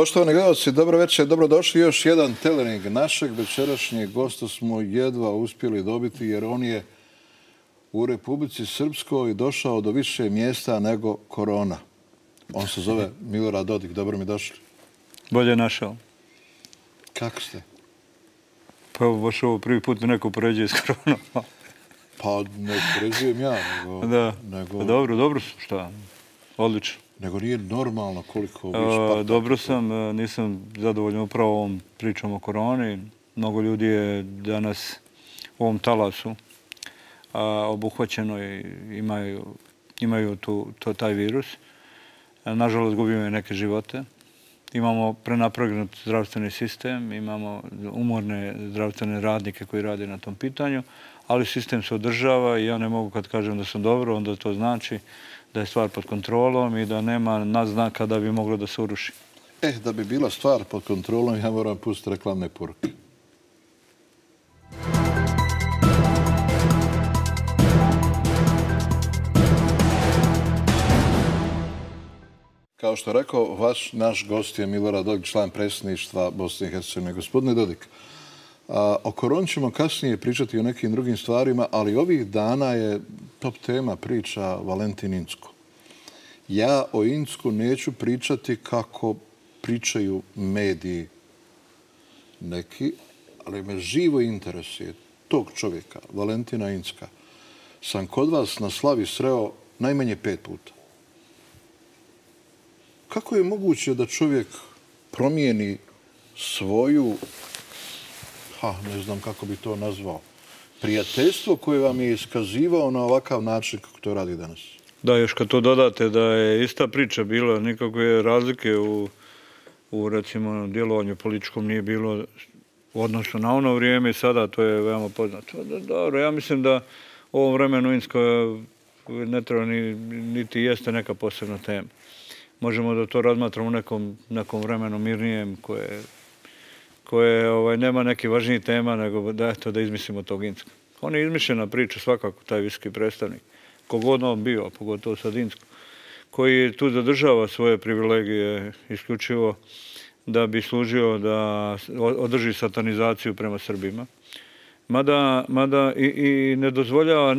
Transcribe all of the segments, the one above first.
Poštovani gledalci, dobro večer, dobrodošli. Još jedan telering našeg večerašnjeg gosta smo jedva uspjeli dobiti jer on je u Republici Srpskoj došao do više mjesta nego korona. On se zove Milorad Dodik. Dobro mi došli. Bolje našao. Kako ste? Pa baš ovo prvi put me neko upoređuje s koronom. Pa ne upoređujem ja, nego... Da, pa dobro su, šta? Odlično. Nego nije normalno koliko vi špaktate. Dobro sam, nisam zadovoljan upravo ovom pričom o koroni. Mnogo ljudi je danas u ovom talasu obuhvaćeno i imaju taj virus. Nažalost, gubimo neke živote. Imamo prenapregnut zdravstveni sistem, imamo umorne zdravstvene radnike koji rade na tom pitanju, ali sistem se održava i ja ne mogu kad kažem da sam dobro, onda to znači da je stvar pod kontrolom i da nema naznaka da bi moglo da se uruši. Da bi bila stvar pod kontrolom, ja moram pustiti reklamne poruke. Kao što rekao, naš gost je Milorad Dodik, član predsjedništva Bosne i Hercegovine. Gospodine Dodik, o koroni ćemo kasnije pričati o nekim drugim stvarima, ali ovih dana je top tema priča Valentin Incko. Ja o Incku neću pričati kako pričaju mediji neki, ali me živo interesuje tog čovjeka, Valentina Incka. Sam kod vas na slavi sreo najmanje 5 puta. Kako je moguće da čovjek promijeni svoju, ne znam kako bi to nazvao, prijateljstvo koje vam je iskazivao na ovakav način kako to radi danas? Da, još kad to dodate da je ista priča bila, nikakve razlike u recimo, djelovanju političkom nije bilo odnosno na ono vrijeme i sada, to je veoma poznato. Dobro, ja mislim da u ovom vremenu Incko ne treba niti jeste neka posebna tema. Možemo da to razmatramo u nekom vremenu mirnijem koje nema neke važnije tema nego da izmislimo tog Incka. On je izmišljena priča svakako, taj visoki predstavnik. Kogod on bio, a pogotovo sad Incko, koji tu zadržava svoje privilegije isključivo da bi služio da održi satanizaciju prema Srbima. Mada i ne dozvoljava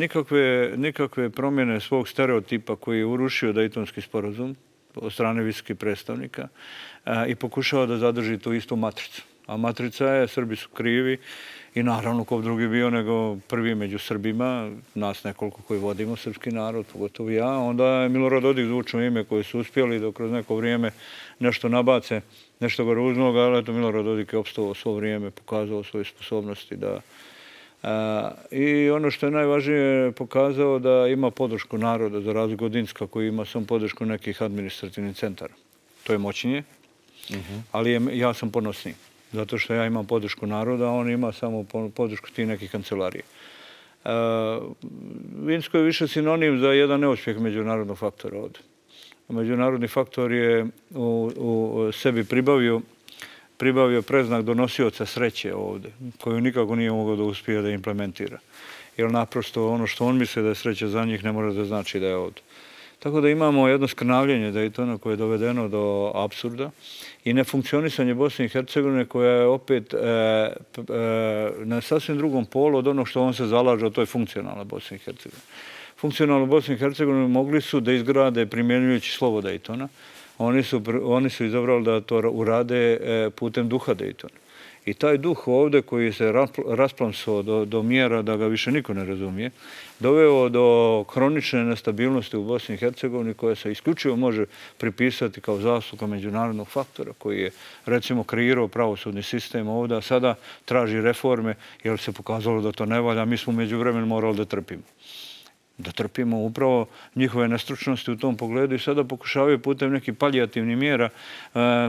nikakve promjene svog stereotipa koji je urušio Dejtonski sporazum od strane visokih predstavnika i pokušava da zadrži tu istu matricu. A matrica je, Srbi su krivi i naravno ko drugi bio nego prvi među Srbima, nas nekoliko koji vodimo srpski narod, pogotovo ja, onda je Milorad Dodik zvučno ime koje su uspjeli da kroz neko vrijeme nešto nabace, nešto ga ruznog, ali eto Milorad Dodik je opstao svo vrijeme, pokazao svoje sposobnosti da... I ono što je najvažnije pokazao da ima podršku naroda za razliku od Incka koji ima samo podršku nekih administrativnih centara. To je moćnije, ali ja sam ponosniji. Zato što ja imam podršku naroda, a on ima samo podršku tih nekih kancelarija. Incko je više sinonim za jedan neuspjeh međunarodnog faktora ovdje. Međunarodni faktor je u sebi pribavio preznak donosioca sreće ovdje, koju nikako nije mogao da uspije da implementira. Jer naprosto ono što on misle da je sreća za njih ne mora da znači da je ovdje. Tako da imamo jedno skrnavljenje Dejtona koje je dovedeno do apsurda i nefunkcionisanje Bosne i Hercegovine koja je opet na sasvim drugom polu od onog što on se zalaže, a to je funkcionalna Bosna i Hercegovina. Funkcionalnu Bosnu i Hercegovinu mogli su da izgrade primjenjujući slovo Dejtona. Oni su izabrali da to urade putem duha Dejtona. I taj duh ovdje koji se rasplamsao do mjera da ga više niko ne razumije, doveo do kronične nestabilnosti u Bosni i Hercegovini koja se isključivo može pripisati kao zasluga međunarodnog faktora koji je recimo kreirao pravosudni sistem ovdje, a sada traži reforme jer se pokazalo da to ne valja, mi smo među vremenu morali da trpimo. Da trpimo upravo njihove nestručnosti u tom pogledu i sada pokušavaju putem nekih palijativnih mjera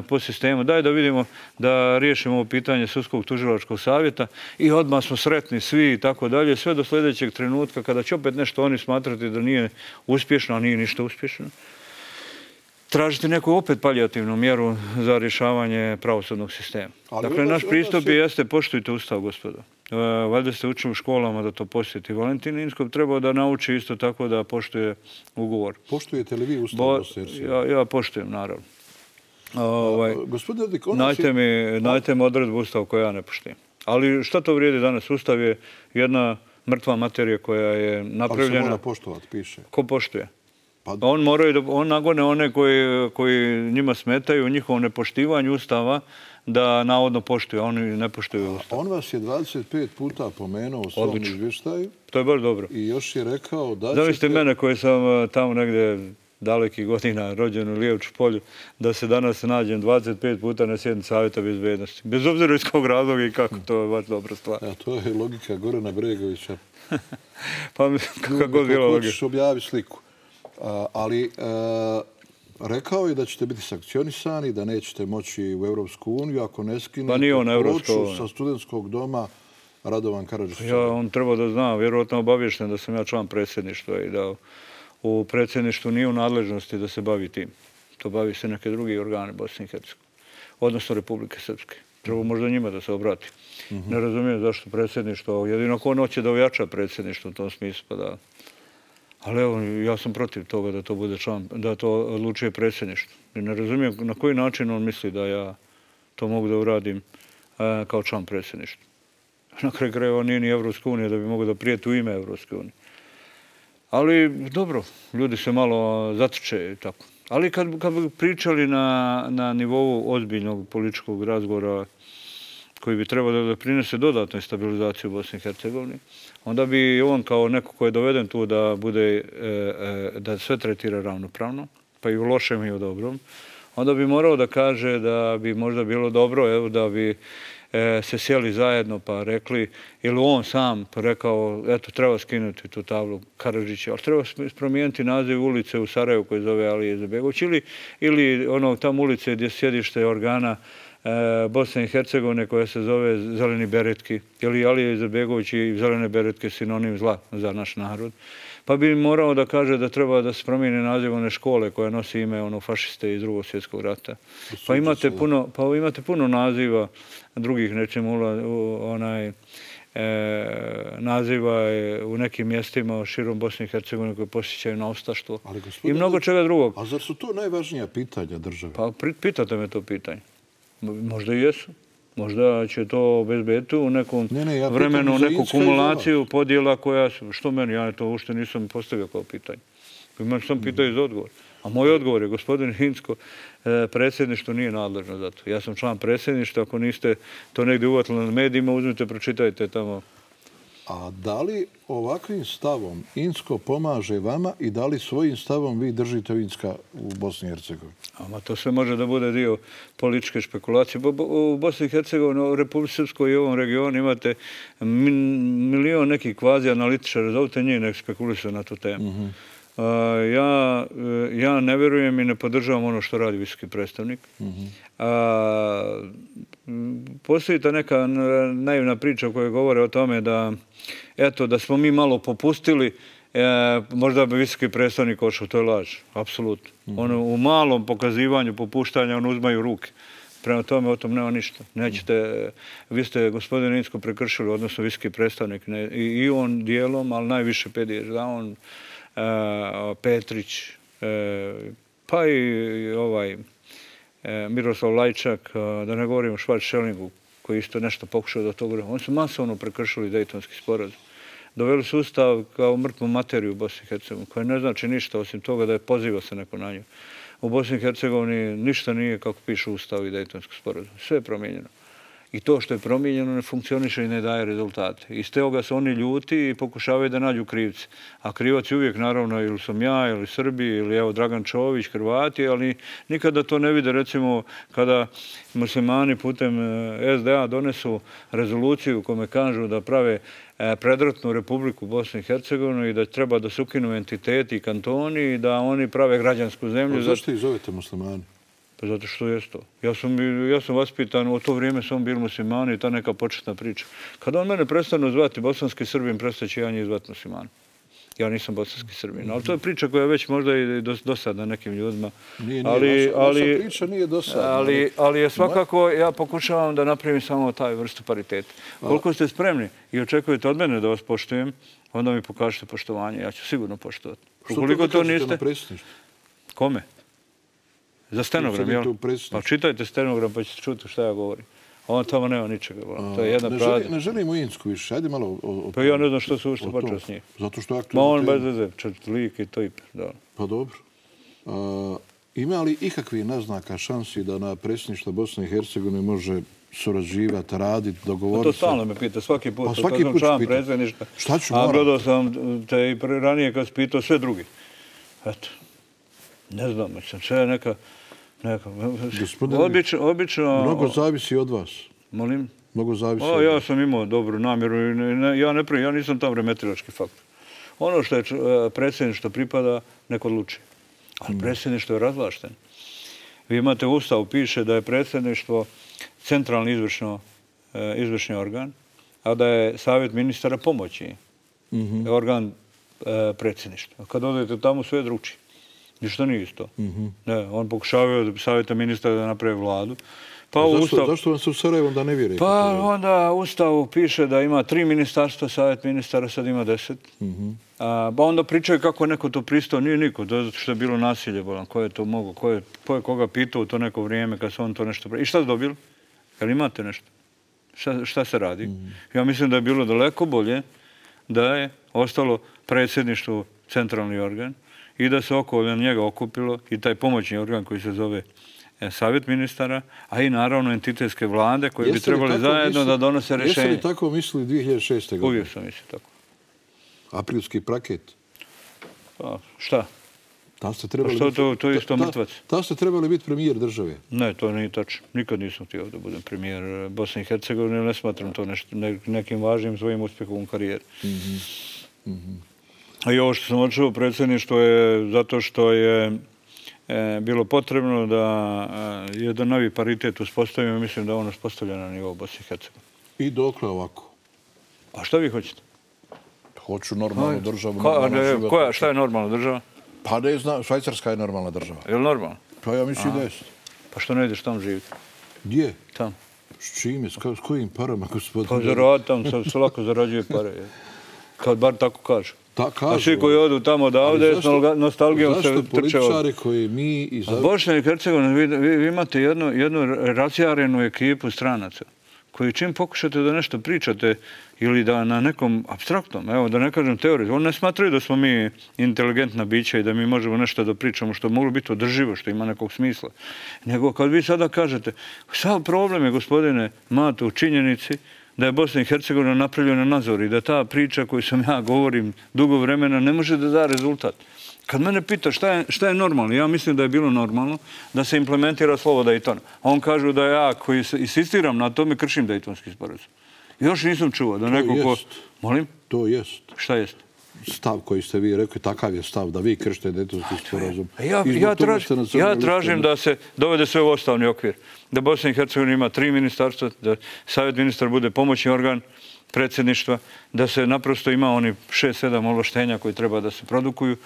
po sistemu. Daj da vidimo da riješimo ovo pitanje Sudskog tužilačkog savjeta i odmah smo sretni svi i tako dalje, sve do sljedećeg trenutka kada će opet nešto oni smatrati da nije uspješno, a nije ništa uspješno. Tražiti neku opet palijativnu mjeru za rješavanje pravosudnog sistema. Dakle, naš pristup jeste poštujte Ustav, gospodo. Valjda ste učili u školama da to posjeti. Valentin Incko trebao da nauči isto tako da poštuje ugovor. Poštujete li vi Ustav? Ja poštujem, naravno. Gospodine Dodik, Najte mi odredbu Ustava koju ja ne poštijem. Ali šta to vrijedi danas? Ustav je jedna mrtva materija koja je napravljena. Ali se mora poštovati, piše. Ko poštuje? On nagone one koji njima smetaju u njihovom nepoštivanju Ustava da navodno poštuju, a oni ne poštuju Ustav. On vas je 25 puta pomenuo u svom izvještaju. To je baš dobro. I još je rekao da ćete... Zamislite mene koji sam tamo negdje dalekih godina rođen u Lijevču polju, da se danas nađem 25 puta na sjednici Savjeta bezbednosti. Bez obzira iz kog razloga i kako, to je baš dobra stvar. To je logika Gorana Bregovića. Pa kako god bilo logika. Hoćeš objaviti sliku. Ali rekao je da ćete biti sankcionisani, da nećete moći u Europsku uniju ako ne skinete ploču sa studentskog doma Radovan Karadžić. On treba da zna, vjerojatno obavješten da sam ja član predsjedništva i da u predsjedništvu nije u nadležnosti da se bavi tim. To bavi se neke drugi organi Bosne i Hercegovine, odnosno Republike Srpske. Treba možda njima da se obrati. Ne razumijem zašto predsjedništvo, jedino ko hoće da ojača predsjedništvo u tom smislu, pa da... Ali evo, ja sam protiv toga da to bude član, da to odlučuje predsjedništvo. Ne razumijem na koji način on misli da ja to mogu da uradim kao član predsjedništva. Na kraju krajeva nije ni Evropska unija da bi mogo da prijeti u ime Evropske unije. Ali dobro, ljudi se malo zatrče i tako. Ali kad bi pričali na nivou ozbiljnog političkog razgovora koji bi trebao da doprinese dodatnoj stabilizaciji u Bosni i Hercegovini, onda bi on kao neko ko je doveden tu da bude, da sve tretira ravnopravno, pa i u lošem i u dobrom, onda bi morao da kaže da bi možda bilo dobro, da bi se sjeli zajedno pa rekli, ili on sam rekao, eto, treba skinuti tu tablu Karadžića, ali treba promijeniti naziv ulice u Sarajevu koji zove Alije Izetbegović, ili tamo ulice gdje sjedište organa Bosne i Hercegovine koja se zove Zeleni beretki, ili Alije Izetbegović i zelene beretke sinonim zla za naš narod. Pa bi morao da kaže da treba da se promijeni naziv one škole koja nosi ime fašiste iz Drugog svjetskog rata. Pa imate puno naziva drugih, nečemu naziva u nekim mjestima širom Bosne i Hercegovine koje posjećaju na ustaštvo i mnogo čega drugog. A zar su to najvažnija pitanja države? Pa pitate me to pitanje. Možda i jesu. Možda će to obezbediti u nekom vremenu, neku kumulaciju podjela koja su, što meni, ja to uopšte nisam postavio kao pitanje. Imam sam pitaju za odgovor. A moj odgovor je, gospodin Hinsko, predsjedništvo nije nadležno za to. Ja sam član predsjedništva, ako niste to negdje uvatili na medijima, uzmite, pročitajte tamo. A da li ovakvim stavom Insko pomaže vama i da li svojim stavom vi držite Inska u Bosni i Hercegovini? To sve može da bude dio političke špekulacije. U Bosni i Hercegovini, u Republike Srpskoj i ovom regionu imate milion nekih kvazi analitičara. Zovite njih nek spekulisaju na tu temu. Ja ne vjerujem i ne podržavam ono što radi visoki predstavnik. Postoji ta neka naivna priča koja govore o tome da smo mi malo popustili, možda bi visoki predstavnik ošao. To je laž, apsolutno. U malom pokazivanju popuštanja on uzmaju ruke. Prema tome o tom nema ništa. Vi ste, gospodine Insko, prekršili, odnosno visoki predstavnik, i on dijelom, ali najviše Pedijež, da on, Petrić, pa i Miroslav Lajčak, da ne govorim o Švarc-Šelingu, koji isto nešto pokušao da to govori. Oni su masovno prekršili Dejtonski sporazum. Doveli su Ustav kao mrtvu materiju u Bosni i Hercegovini, koja ne znači ništa osim toga da je poziva se neko na nju. U Bosni i Hercegovini ništa nije kako piše Ustav i Dejtonski sporazum. Sve je promijenjeno. I to što je promijenjeno ne funkcioniše i ne daje rezultate. Iz toga se oni ljuti i pokušavaju da nađu krivce. A krivac je uvijek, naravno, ili sam ja, ili Srbi, ili evo Dragan Čović, Hrvati, ali nikada to ne vide, recimo, kada muslimani putem SDA donesu rezoluciju u kome kažu da prave predratnu Republiku Bosne i Hercegovine i da treba da se ukinu entiteti i kantoni i da oni prave građansku zemlju. Zašto ih zovete muslimani? Pa zato što je to. Ja sam vaspitan, u to vrijeme sam bili muslimani i ta neka početna priča. Kada on mene prestanu zvati bosanski Srbin, prestaće ja njih zvati muslimani. Ja nisam bosanski Srbin. Ali to je priča koja je već možda i dosadna nekim ljudima. Vaša priča nije dosadna. Ali je svakako, ja pokušavam da napravim samo taj vrstu pariteta. Koliko ste spremni i očekujete od mene da vas poštujem, onda mi pokažete poštovanje. Ja ću sigurno poštovati. Što to kažete na predsjedništvu? Kome? Za stenogram, jel? Pa čitajte stenogram pa ćete čuti šta ja govorim. On tamo nema ničega. To je jedna pravda. Ne želim u Insku više. Ajde malo o pa ja ne znam što se ušte počeo s njih. Zato što je aktualno... Ma on bez veze, lik i to i... Pa dobro. Ima li ikakvi naznaka šansi da na predsjedništvo Bosne i Hercegovine može surađivati, raditi, dogovoriti? To stalno me pita, svaki put. Pa svaki put ću pitati. Šta ću moram? A gledao sam te i ranije kad si pitao sve drugi. Eto. Ne znam, mislim, sve je neka... Obično... Mnogo zavisi od vas. Molim? Mnogo zavisi od vas. Ja sam imao dobru namjeru. Ja nisam tam remetilački faktor. Ono što je predsjedništvo pripada, neko odluči. Ali predsjedništvo je razvlašteno. Vi imate u Ustavu, piše da je predsjedništvo centralni izvršni organ, a da je savjet ministara pomoći organ predsjedništva. Kad odete tamo, sve je drugčije. Ništa nije isto. On pokušavaju od savjeta ministara da napravi vladu. Zašto vam se u Sarajevu onda ne vjeruje? Pa onda u Ustavu piše da ima 3 ministarstva, savjet ministara sad ima 10. Pa onda pričaju kako neko to pristao. Nije niko, zato što je bilo nasilje. Ko je to mogo? Ko je koga pitao u to neko vrijeme kad se on to nešto... I šta ste dobili? Jel imate nešto? Šta se radi? Ja mislim da je bilo daleko bolje da je ostalo predsjedništvo centralni organ i da se oko njega okupilo i taj pomoćni organ koji se zove savjet ministara, a i naravno entitetske vlade koje bi trebali zajedno da donose rješenje. Jeste li tako mislili 2006. godine? Uvijek sam mislio tako. Aprilski paket? Šta? To je isto mrtvac. Da ste trebali biti premijer države? Ne, to nije tačno. Nikad nisam htio da budem premijer Bosne i Hercegovine. Ne smatram to nekim važnim svojim uspjehom u karijeri. A i ovo što sam odšao u predsjedništvo je zato što je bilo potrebno da jedan novi paritet uspostavimo. Mislim da je on uspostavljen na nivou Bosne i Hercegovine. I dokle ovako? A šta vi hoćete? Hoću normalnu državu. Šta je normalna država? Pa ne znam, Švajcarska je normalna država. Je li normalna? Pa ja mislim da jeste. Pa što ne ideš tam živjeti? Gdje? Tam. S čime? S kojim parama, gospodine? Pa zaradi tam, se lako zarađuje pare. Kad bar tako kažu. A svi koji odu tamo odavde, s nostalgijom se trče od... Zašto političari koji mi... Bosna i Hercegovina, vi imate jednu razjarenu ekipu stranaca koji čim pokušate da nešto pričate ili da na nekom apstraktnom, evo da ne kažem teoriji, oni ne smatraju da smo mi inteligentna bića i da mi možemo nešto da pričamo što moglo biti održivo, što ima nekog smisla. Nego kad vi sada kažete, sav problem je, gospodine Mato, u činjenici da je Bosna i Hercegovina napravljena nazor i da ta priča koju sam ja govorim dugo vremena ne može da da rezultat. Kad mene pita šta je normalno, ja mislim da je bilo normalno da se implementira slovo Daytona. On kažu da ja koji insistiram na tome kršim Daytonski sporazum. Još nisam čuo da neko ko... Molim? To jest. Šta jest? Stav koji ste vi rekli, takav je stav da vi kršite Daytonski sporazum. Ja tražim da se dovede sve u ustavni okvir. Da Bosna i Hercegovina ima 3 ministarstva, da savjet ministar bude pomoćni organ predsjedništva, da se naprosto ima oni 6-7 ovlaštenja koji treba da se produkuju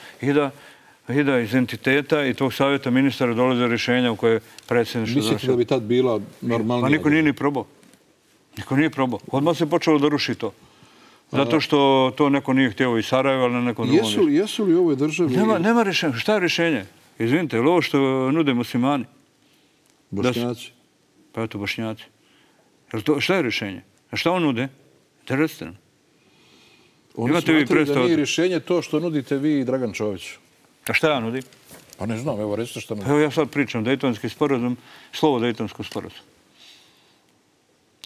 i da iz entiteta i tog savjeta ministara dolaze rješenja u koje predsjedništvo... Mislite da bi tad bila normalnija? Pa niko nije ni probao. Niko nije probao. Odmah se počelo da ruši to. Zato što to neko nije htio iz Sarajeva, ali na nekom drugom mjestu. Jesu li u ovoj državi... Nema rješenja. Šta je rješenje? Izvinite, ili ovo što nude muslimani? Bošnjaci? Pa eto, Bošnjaci. Šta je rješenje? A šta on nude? Da recite nam. Oni smatraju da nije rješenje to što nudite vi i Dragan Čović. A šta ja nudim? Pa ne znam, evo recite što nudim. Evo ja sad pričam, Daytonski sporazum, slovo Daytonskog sporazuma.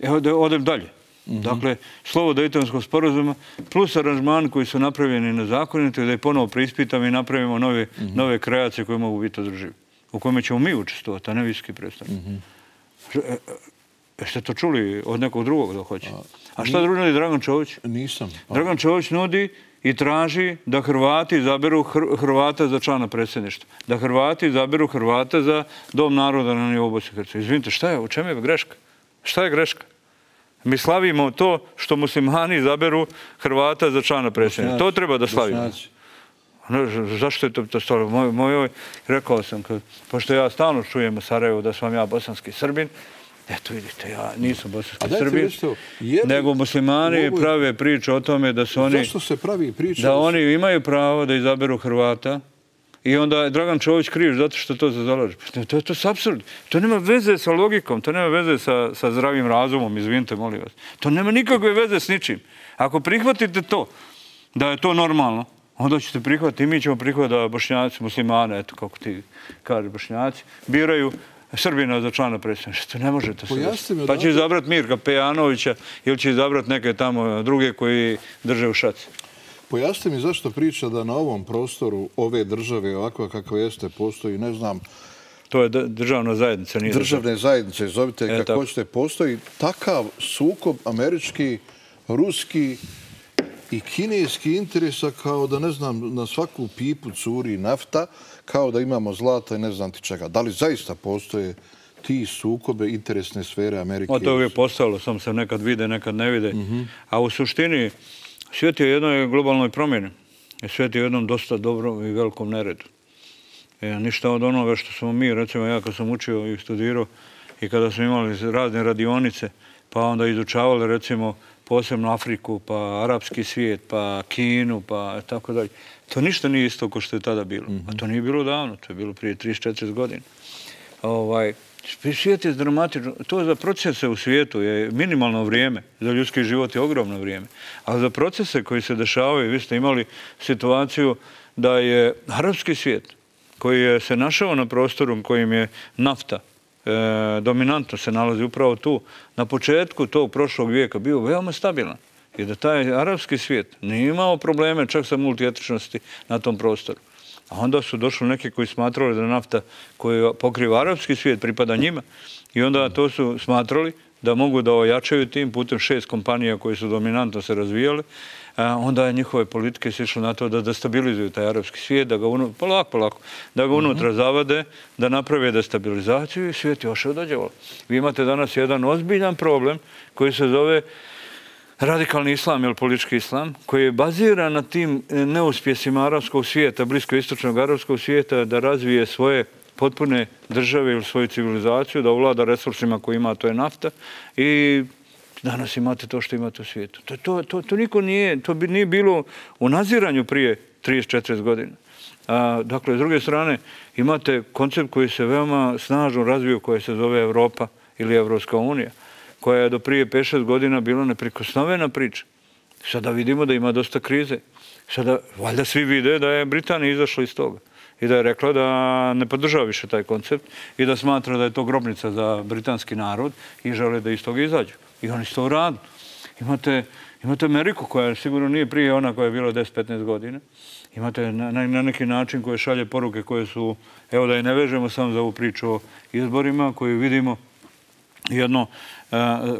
Evo da odem dalje. Dakle, slovo Daytonskog sporazuma plus aranžman koji su napravljeni nezakonito i da je ponovo preispitamo i napravimo nove kreacije koje mogu biti održive. U kome ćemo mi učestovati, a ne visoki predstavnik. Jeste to čuli od nekog drugog da hoće? A šta drugo nudi Dragan Čović? Nisam. Dragan Čović nudi i traži da Hrvati izaberu Hrvata za člana predsjedništva. Da Hrvati izaberu Hrvata za Dom naroda na nivou Bosne i Hercegovine. Izvinite, šta je? U čemu je greška? Šta je greška? Mi slavimo to što muslimani izaberu Hrvata za člana predsjedništva. To treba da slavimo. Zašto je to stavljeno? Rekao sam, pošto ja stalno čujem u Sarajevu da sam ja bosanski Srbin, eto vidite, ja nisam bosanski Srbin, nego muslimani prave priču o tome da su oni... Zašto se pravi priča? Da oni imaju pravo da izaberu Hrvata I onda je Dragan Čović kriv zato što to zalaže. To je apsurd. To nema veze sa logikom, to nema veze sa zdravim razumom, izvinite, molim vas. To nema nikakve veze s ničim. Ako prihvatite to, da je to normalno, onda ćete prihvatiti i mi ćemo prihvatiti da Bošnjaci, muslimane, eto kako ti kaže Bošnjaci, biraju Srbina za člana predsjedništva. To ne možete se desiti. Pa će izabrati Mirka Pejanovića ili će izabrati neke tamo druge koji drže u šaci. Pojasnite mi zašto priča da na ovom prostoru ove države, ovakva kakva jeste, postoji, ne znam... To je državna zajednica. Državne zajednice, zovite kako hoćete, postoji takav sukob američki, ruski i kineski interesa kao da, ne znam, na svaku pipu curi nafta, kao da imamo zlata i ne znam ti čega. Da li zaista postoje ti sukobe interesne sfere Amerike? To je uvijek postalo, samo se nekad vide, nekad ne vide. A u suštini svijet je u jednoj globalnoj promjeni. Svijet je u jednom dosta dobrom i velikom neredu. Ništa od onoga što smo mi, recimo ja kad sam učio i studirao i kada smo imali razne radionice, pa onda izučavali recimo posebno Afriku, pa arapski svijet, pa Kinu, pa tako dalje. To ništa nije isto kao što je tada bilo. A to nije bilo davno, to je bilo prije 34 godina. Svijet je dramatično. To za procese u svijetu je minimalno vrijeme. Za ljudski život je ogromno vrijeme. A za procese koji se dešavaju, vi ste imali situaciju da je arapski svijet koji je se našao na prostoru kojim je nafta dominantno se nalazi upravo tu, na početku tog prošlog vijeka bio veoma stabilan. I da taj arapski svijet nije imao probleme čak sa multietičnosti na tom prostoru. A onda su došli neki koji smatrali da nafta koju pokriva arapski svijet pripada njima. I onda to su smatrali da mogu da ojačaju tim putem 6 kompanija koje su dominantno se razvijale. Onda je njihove politike se išlo na to da destabilizuju taj arapski svijet, da ga polako, da ga unutra zavade, da naprave destabilizaciju i svijet još odađevalo. Vi imate danas jedan ozbiljan problem koji se zove radikalni islam ili politički islam, koji je baziran na tim neuspjesima arapskog svijeta, bliskoistočnog arapskog svijeta, da razvije svoje potpune države ili svoju civilizaciju, da ovlada resursima koji ima, to je nafta, i danas imate to što imate u svijetu. To niko nije, to nije bilo u naziranju prije 34 godina. Dakle, s druge strane, imate koncept koji se veoma snažno razvio, koji se zove Evropa ili Evropska unija, koja je do prije 5-6 godina bila neprikosnovena priča. Sada vidimo da ima dosta krize. Sada, valjda svi vide da je Britanija izašla iz toga i da je rekla da ne podržava više taj koncept i da smatra da je to grobnica za britanski narod i žele da iz toga izađu. I oni su to uradili. Imate Ameriku koja sigurno nije prije ona koja je bila 10-15 godina. Imate na neki način koje šalje poruke koje su, evo da je ne vežemo samo za ovu priču o izborima, koju vidimo jedno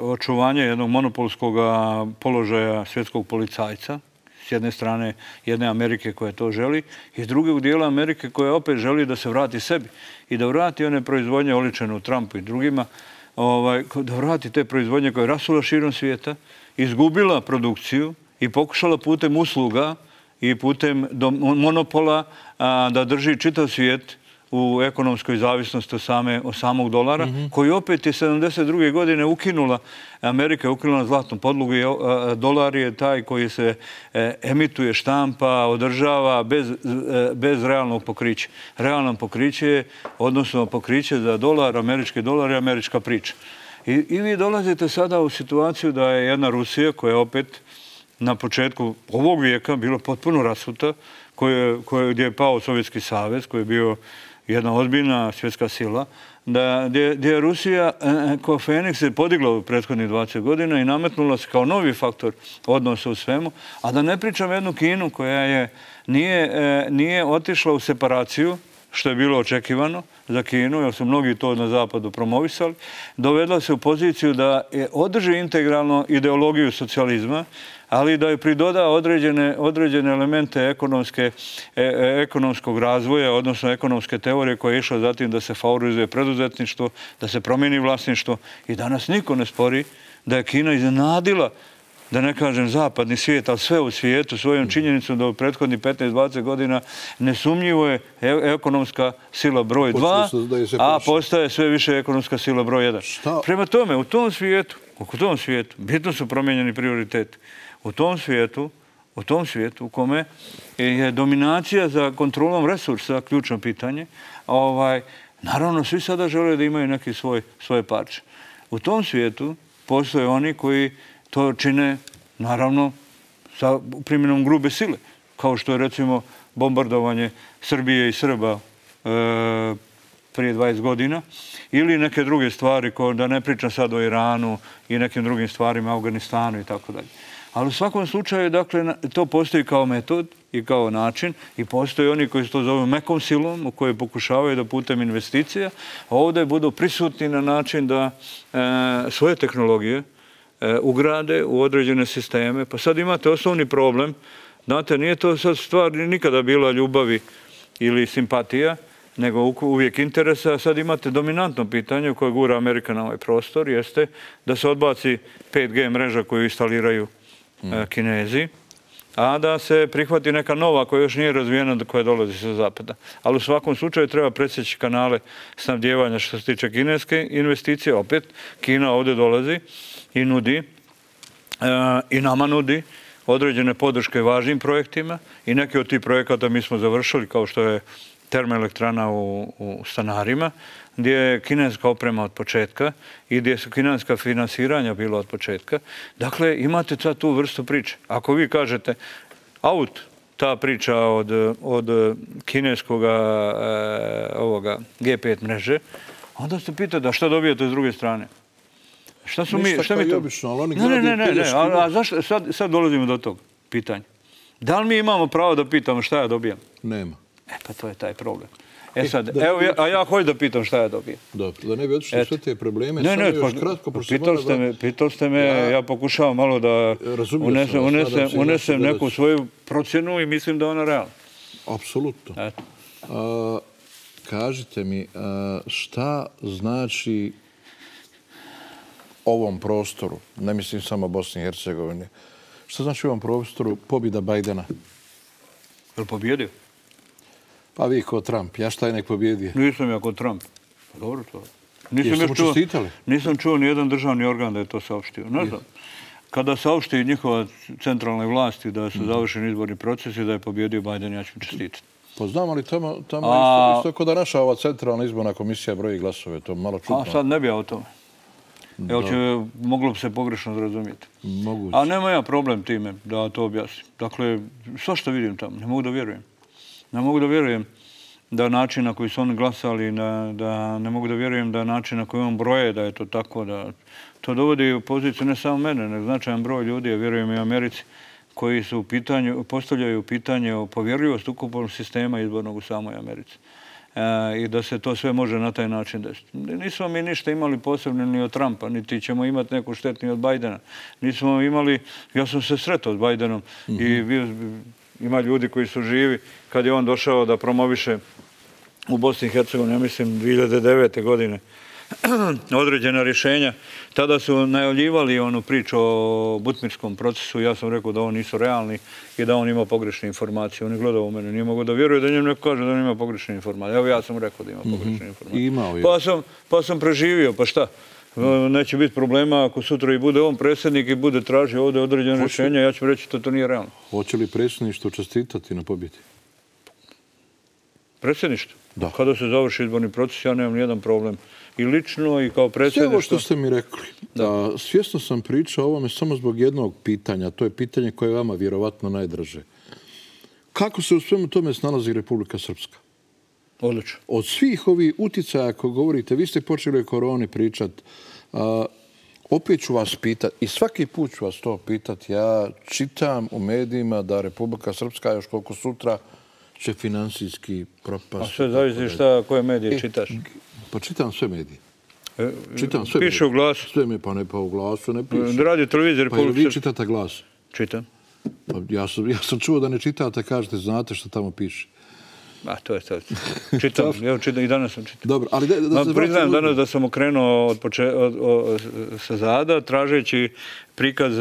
očuvanje jednog monopolskog položaja svjetskog policajca, s jedne strane jedne Amerike koja to želi i drugog dijela Amerike koja opet želi da se vrati sebi i da vrati one proizvodnje oličene u Trumpu i drugima, da vrati te proizvodnje koje je rasula širom svijeta, izgubila produkciju i pokušala putem usluga i putem monopola da drži čitav svijet u ekonomskoj zavisnosti od samog dolara, koji opet je 72. godine ukinula, Amerika je ukinula zlatnu podlogu i dolar je taj koji se emituje, štampa, održava bez realnog pokrića. Realno pokriće je, odnosno pokriće za dolar, američki dolar i američka priča. I vi dolazite sada u situaciju da je jedna Rusija koja je opet na početku ovog vijeka bila potpuno rasuta, gdje je pao Sovjetski savez, koji je bio jedna ozbiljna svjetska sila, gdje je Rusija kao Feniks se podigla u prethodnih 20 godina i nametnula se kao novi faktor odnosa u svemu, a da ne pričam jednu Kinu koja nije otišla u separaciju, što je bilo očekivano za Kinu, jer su mnogi to na zapadu promovisali, dovedla se u poziciju da održi integralno ideologiju socijalizma, ali da je pridoda određene elemente ekonomskog razvoja, odnosno ekonomske teorije koja je išla zatim da se favorizuje preduzetništvo, da se promijeni vlasništvo i danas niko ne spori da je Kina iznenadila, da ne kažem zapadni svijet, ali sve u svijetu svojom činjenicom da u prethodnih 15-20 godina nesumnjivo je ekonomska sila broj 2, a postaje sve više ekonomska sila broj 1. Prema tome, u tom svijetu bitno su promijenjeni prioriteti. U tom svijetu u tom svijetu u kome je dominacija za kontrolom resursa ključno pitanje, naravno svi sada žele da imaju neki svoje parče. U tom svijetu postoje oni koji to čine, naravno, sa primjenom grube sile, kao što je recimo bombardovanje Srbije i Srba prije 20 godina, ili neke druge stvari, da ne pričam sad o Iranu i nekim drugim stvarima, Afganistanu i tako dalje. Ali u svakom slučaju, dakle, to postoji kao metod i kao način i postoje oni koji se to zovu mekom silom, u kojoj pokušavaju da putem investicija ovdje budu prisutni na način da svoje tehnologije ugrade u određene sisteme. Pa sad imate osnovni problem. Znate, nije to sad stvar nikada bila ljubavi ili simpatija, nego uvijek interesa. Sad imate dominantno pitanje koje gura Amerika na ovaj prostor, jeste da se odbaci 5G mreža koju instaliraju Kinezi, a da se prihvati neka nova koja još nije razvijena, koja dolazi sa zapada. Ali u svakom slučaju treba presjeći kanale snabdijevanja što se tiče kineske investicije. Opet, Kina ovdje dolazi i nudi, i nama nudi određene podrške važnim projektima i neki od tih projekata mi smo završili, kao što je termoelektrana u Stanarima, gdje je kineska oprema od početka i gdje su kineska finansiranja bila od početka. Dakle, imate sad tu vrstu priče. Ako vi kažete ta priča od kineskog G5 mreže, onda se pitate da šta dobijete s druge strane. Šta su mi... Ništa kao i obično, ali oni Ne, a zašto sad dolazimo do tog pitanja? Da li mi imamo pravo da pitamo šta ja dobijam? Nema. Pa to je taj problem. Sad, evo, a ja hoću da pitam šta ja dobijem. Dobro, da ne bi otišli sve te probleme, samo još kratko... Pitali ste me, ja pokušavam malo da unesem neku svoju procjenu i mislim da je ona realna. Apsolutno. Kažite mi, šta znači ovom prostoru, ne mislim samo Bosni i Hercegovine, šta znači ovom prostoru pobjeda Bajdena? Je li pobjedio? Pa vi ko Trump, ja šta je nek pobjedio? Nisam ja ko Trump. Dobro to. Jeste mu čestitali? Nisam čuo nijedan državni organ da je to saopštio. Ne znam. Kada saopšti njihova centralne vlasti da su završeni izborni procesi, da je pobjedio Bajden, ja ću mu čestitati. Pa znam, ali tamo isto kao da naša ova centralna izborna komisija broji glasove, to malo čudno. A sad ne bi ja o tome. Moglo bi se pogrešno razumjeti. Moguće. A nema ja problem time da to objasnim. Dakle, sve što vidim tamo, ne mogu da vjerujem. Ne mogu da vjerujem da način na koji su oni glasali, da ne mogu da vjerujem da način na koji on broje, da je to tako, da to dovodi u poziciju ne samo mene, nego značajan broj ljudi, a vjerujem i u Americi, koji su postavljaju pitanje o povjerljivosti ukupnog sistema izbornog u samoj Americi. I da se to sve može na taj način desiti. Nismo mi ništa imali posebno ni od Trumpa, niti ćemo imati neku štetu ni od Bajdena. Nismo imali, ja sam se sretao s Bajdenom i ima ljudi koji su živi kad je on došao da promoviše u Bosni i Hercegovini, ja mislim 2009. godine, određena rješenja. Tada su najavljivali onu priču o butmirskom procesu. Ja sam rekao da oni nisu realni i da on ima pogrešne informacije. On je gledao u mene, nije mogao da vjeruje da njemu neko kaže da on ima pogrešne informacije. Evo ja sam rekao da ima pogrešne informacije. Pa sam preživio, pa šta? Neće biti problema ako sutra i bude on predsjednik i bude tražio ovdje određene rješenja, ja ću reći da to nije realno. Hoće li predsjedništvo čestitati na pobjedi? Predsjedništvo? Da. Kada se završi izborni proces, ja nemam nijedan problem. I lično i kao predsjedništvo. Sve ovo što ste mi rekli. Svjesno sam pričao o ovome samo zbog jednog pitanja. To je pitanje koje je vama vjerovatno najdraže. Kako se u svemu tome snalazi Republika Srpska? Odlično. Od svih ovih uticaja, ako govorite, vi ste počeli o koroni pričati, opet ću vas pitati, i svaki put ću vas to pitati, ja čitam u medijima da Republika Srpska još koliko sutra će finansijski propasti. A sve zavisi koje medije čitaš? Pa čitam sve medije. Piše u Glasu? Sve me, pa ne pa u Glasu, ne piše. Radio televizija Republike Srpske. Pa vi čitate Glas? Čitam. Ja sam čuo da ne čitate, kažete, znate što tamo piše. To je sad. Čitam, i danas sam čitao. Dobro, ali priznajem danas da sam okrenuo sa zada, tražeći prikaz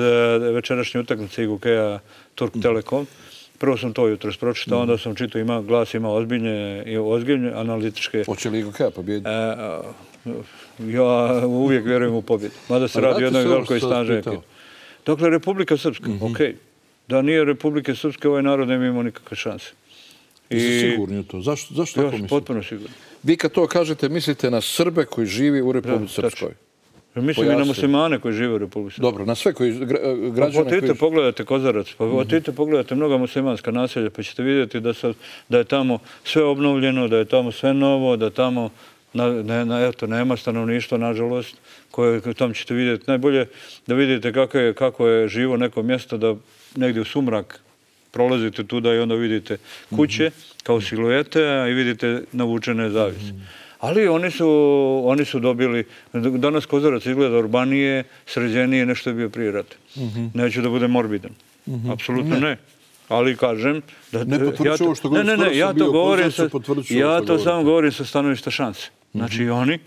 večerašnje utakmice IGK-a Turk Telekom. Prvo sam to jutros pročitao, onda sam čitao, Glas ima ozbiljne analitičke... Hoće li IGK pobijediti? Ja uvijek vjerujem u pobjedu. Mada se radi o jednoj velikoj snažnoj ekipi. Dakle, Republika Srpska, okej. Da nije Republike Srpske, ovaj narod ne bi imao nikakve šanse. Jeste sigurni u to? Zašto tako mislite? Potpuno sigurno. Vi kad to kažete, mislite na Srbe koji živi u Republici Srpskoj? Mislim i na muslimane koji žive u Republici Srpskoj. Dobro, na sve građane koji... Pogledajte Kozarac, pogledajte mnoga muslimanska naselja, pa ćete vidjeti da je tamo sve obnovljeno, da je tamo sve novo, da tamo nema stanovništva, nažalost, koje tamo ćete vidjeti. Najbolje da vidite kako je živo neko mjesto, da negdje u sumrak prolazite tuda i onda vidite kuće kao siluete i vidite navučene zavise. Ali oni su dobili, danas Kozarac izgleda urbanije, sređenije, nešto je bio prije rata. Neću da budem morbidan. Apsolutno ne. Ali kažem... Ne potvrđuju ovo što govorim, skoro sam bio u Kozarcu, potvrđuju ovo što govorim. Ja to samo govorim sa stanovišta šanse. Znači oni,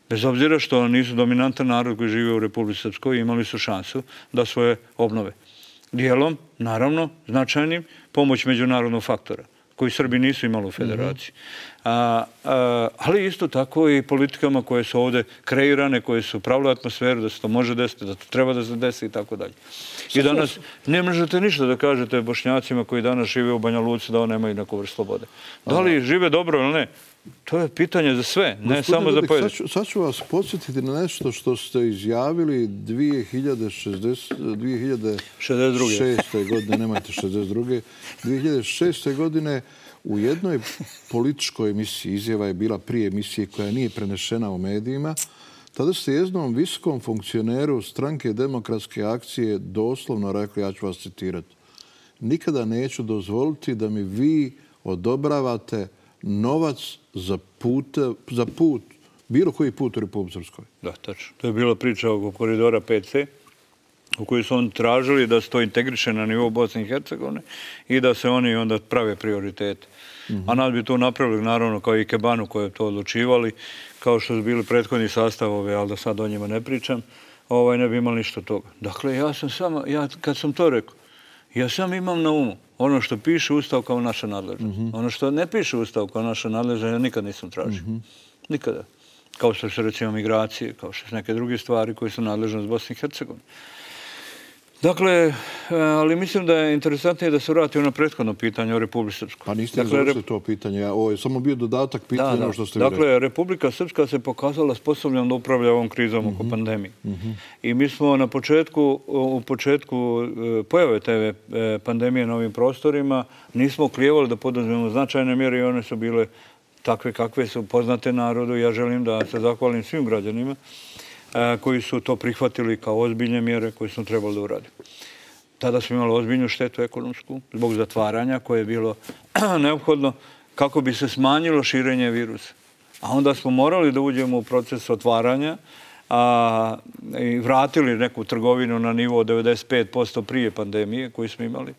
bez obzira što nisu dominantan narod koji žive u Republici Srpskoj, imali su šansu da svoje obnove. Dijelom, naravno, značajnim, pomoć međunarodnog faktora, koji Srbi nisu imali u federaciji. Ali isto tako i politikama koje su ovdje kreirane, koje su pravile atmosferu, da se to može desiti, da to treba da se desi i tako dalje. I danas ne možete ništa da kažete Bošnjacima koji danas žive u Banja Luci da oni nemaju neku vrstu slobode. Da li žive dobro ili ne? To je pitanje za sve, ne samo za pojedine. Sad ću vas podsjetiti na nešto što ste izjavili 2006. godine, nemojte 62. 2006. godine u jednoj političkoj emisiji, izjava je bila prije emisije koja nije prenešena u medijima, tada ste jednom visokom funkcioneru Stranke demokratske akcije doslovno rekli, ja ću vas citirati, nikada neću dozvoliti da mi vi odobravate novac za put, bilo koji put u Republici Srpskoj. Da, tačno. To je bila priča oko koridora 5C, u kojoj su oni tražili da se to integriše na nivou Bosne i Hercegovine i da se oni onda prave prioritete. A nas bi to napravili, naravno, kao i Kebanu koji je to odlučivali, kao što su bili prethodni sastavovi, ali da sad o njima ne pričam, ne bi imali ništa toga. Dakle, kad sam to rekao, ja sam imam na umu ono što piše Ustav kao naša nadležnost. Ono što ne piše Ustav kao naša nadležnost, ja nikad nisam tražio. Nikada. Kao što su recimo migracije, kao što su neke druge stvari koje su nadležnost Bosne i Hercegovine. Dakle, ali mislim da je interesantnije da se vrati ono prethodno pitanje o Republici Srpskoj. Pa niste završili to pitanje, ovo je samo bio dodatak pitanja što ste vi rekli. Dakle, Republika Srpska se pokazala sposobnom da upravlja ovom krizom oko pandemije. I mi smo u početku pojave te pandemije na ovim prostorima nismo oklijevali da poduzmemo značajne mjere i one su bile takve kakve su poznate narodu. Ja želim da se zahvalim svim građanima koji su to prihvatili kao ozbiljne mjere koje smo trebali da uradimo. Tada smo imali ozbiljnu štetu ekonomsku zbog zatvaranja koje je bilo neophodno kako bi se smanjilo širenje virusa. A onda smo morali da uđemo u proces otvaranja i vratili neku trgovinu na nivo 95% prije pandemije koju smo imali.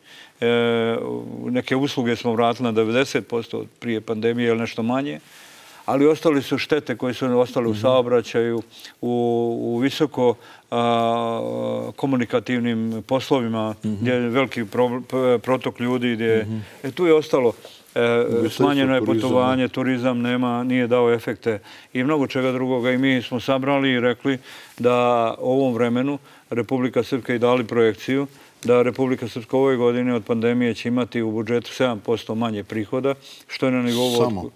Neke usluge smo vratili na 90% prije pandemije ili nešto manje. Ali ostali su štete koje su ostale u saobraćaju, u visoko komunikativnim poslovima, gdje je veliki protok ljudi, gdje tu je ostalo smanjeno je putovanje, turizam nije dao efekte i mnogo čega drugoga. I mi smo sabrali i rekli da u ovom vremenu Republika Srpska i dali projekciju da Republika Srpska ove godine od pandemije će imati u budžetu 7% manje prihoda, što je na nivou...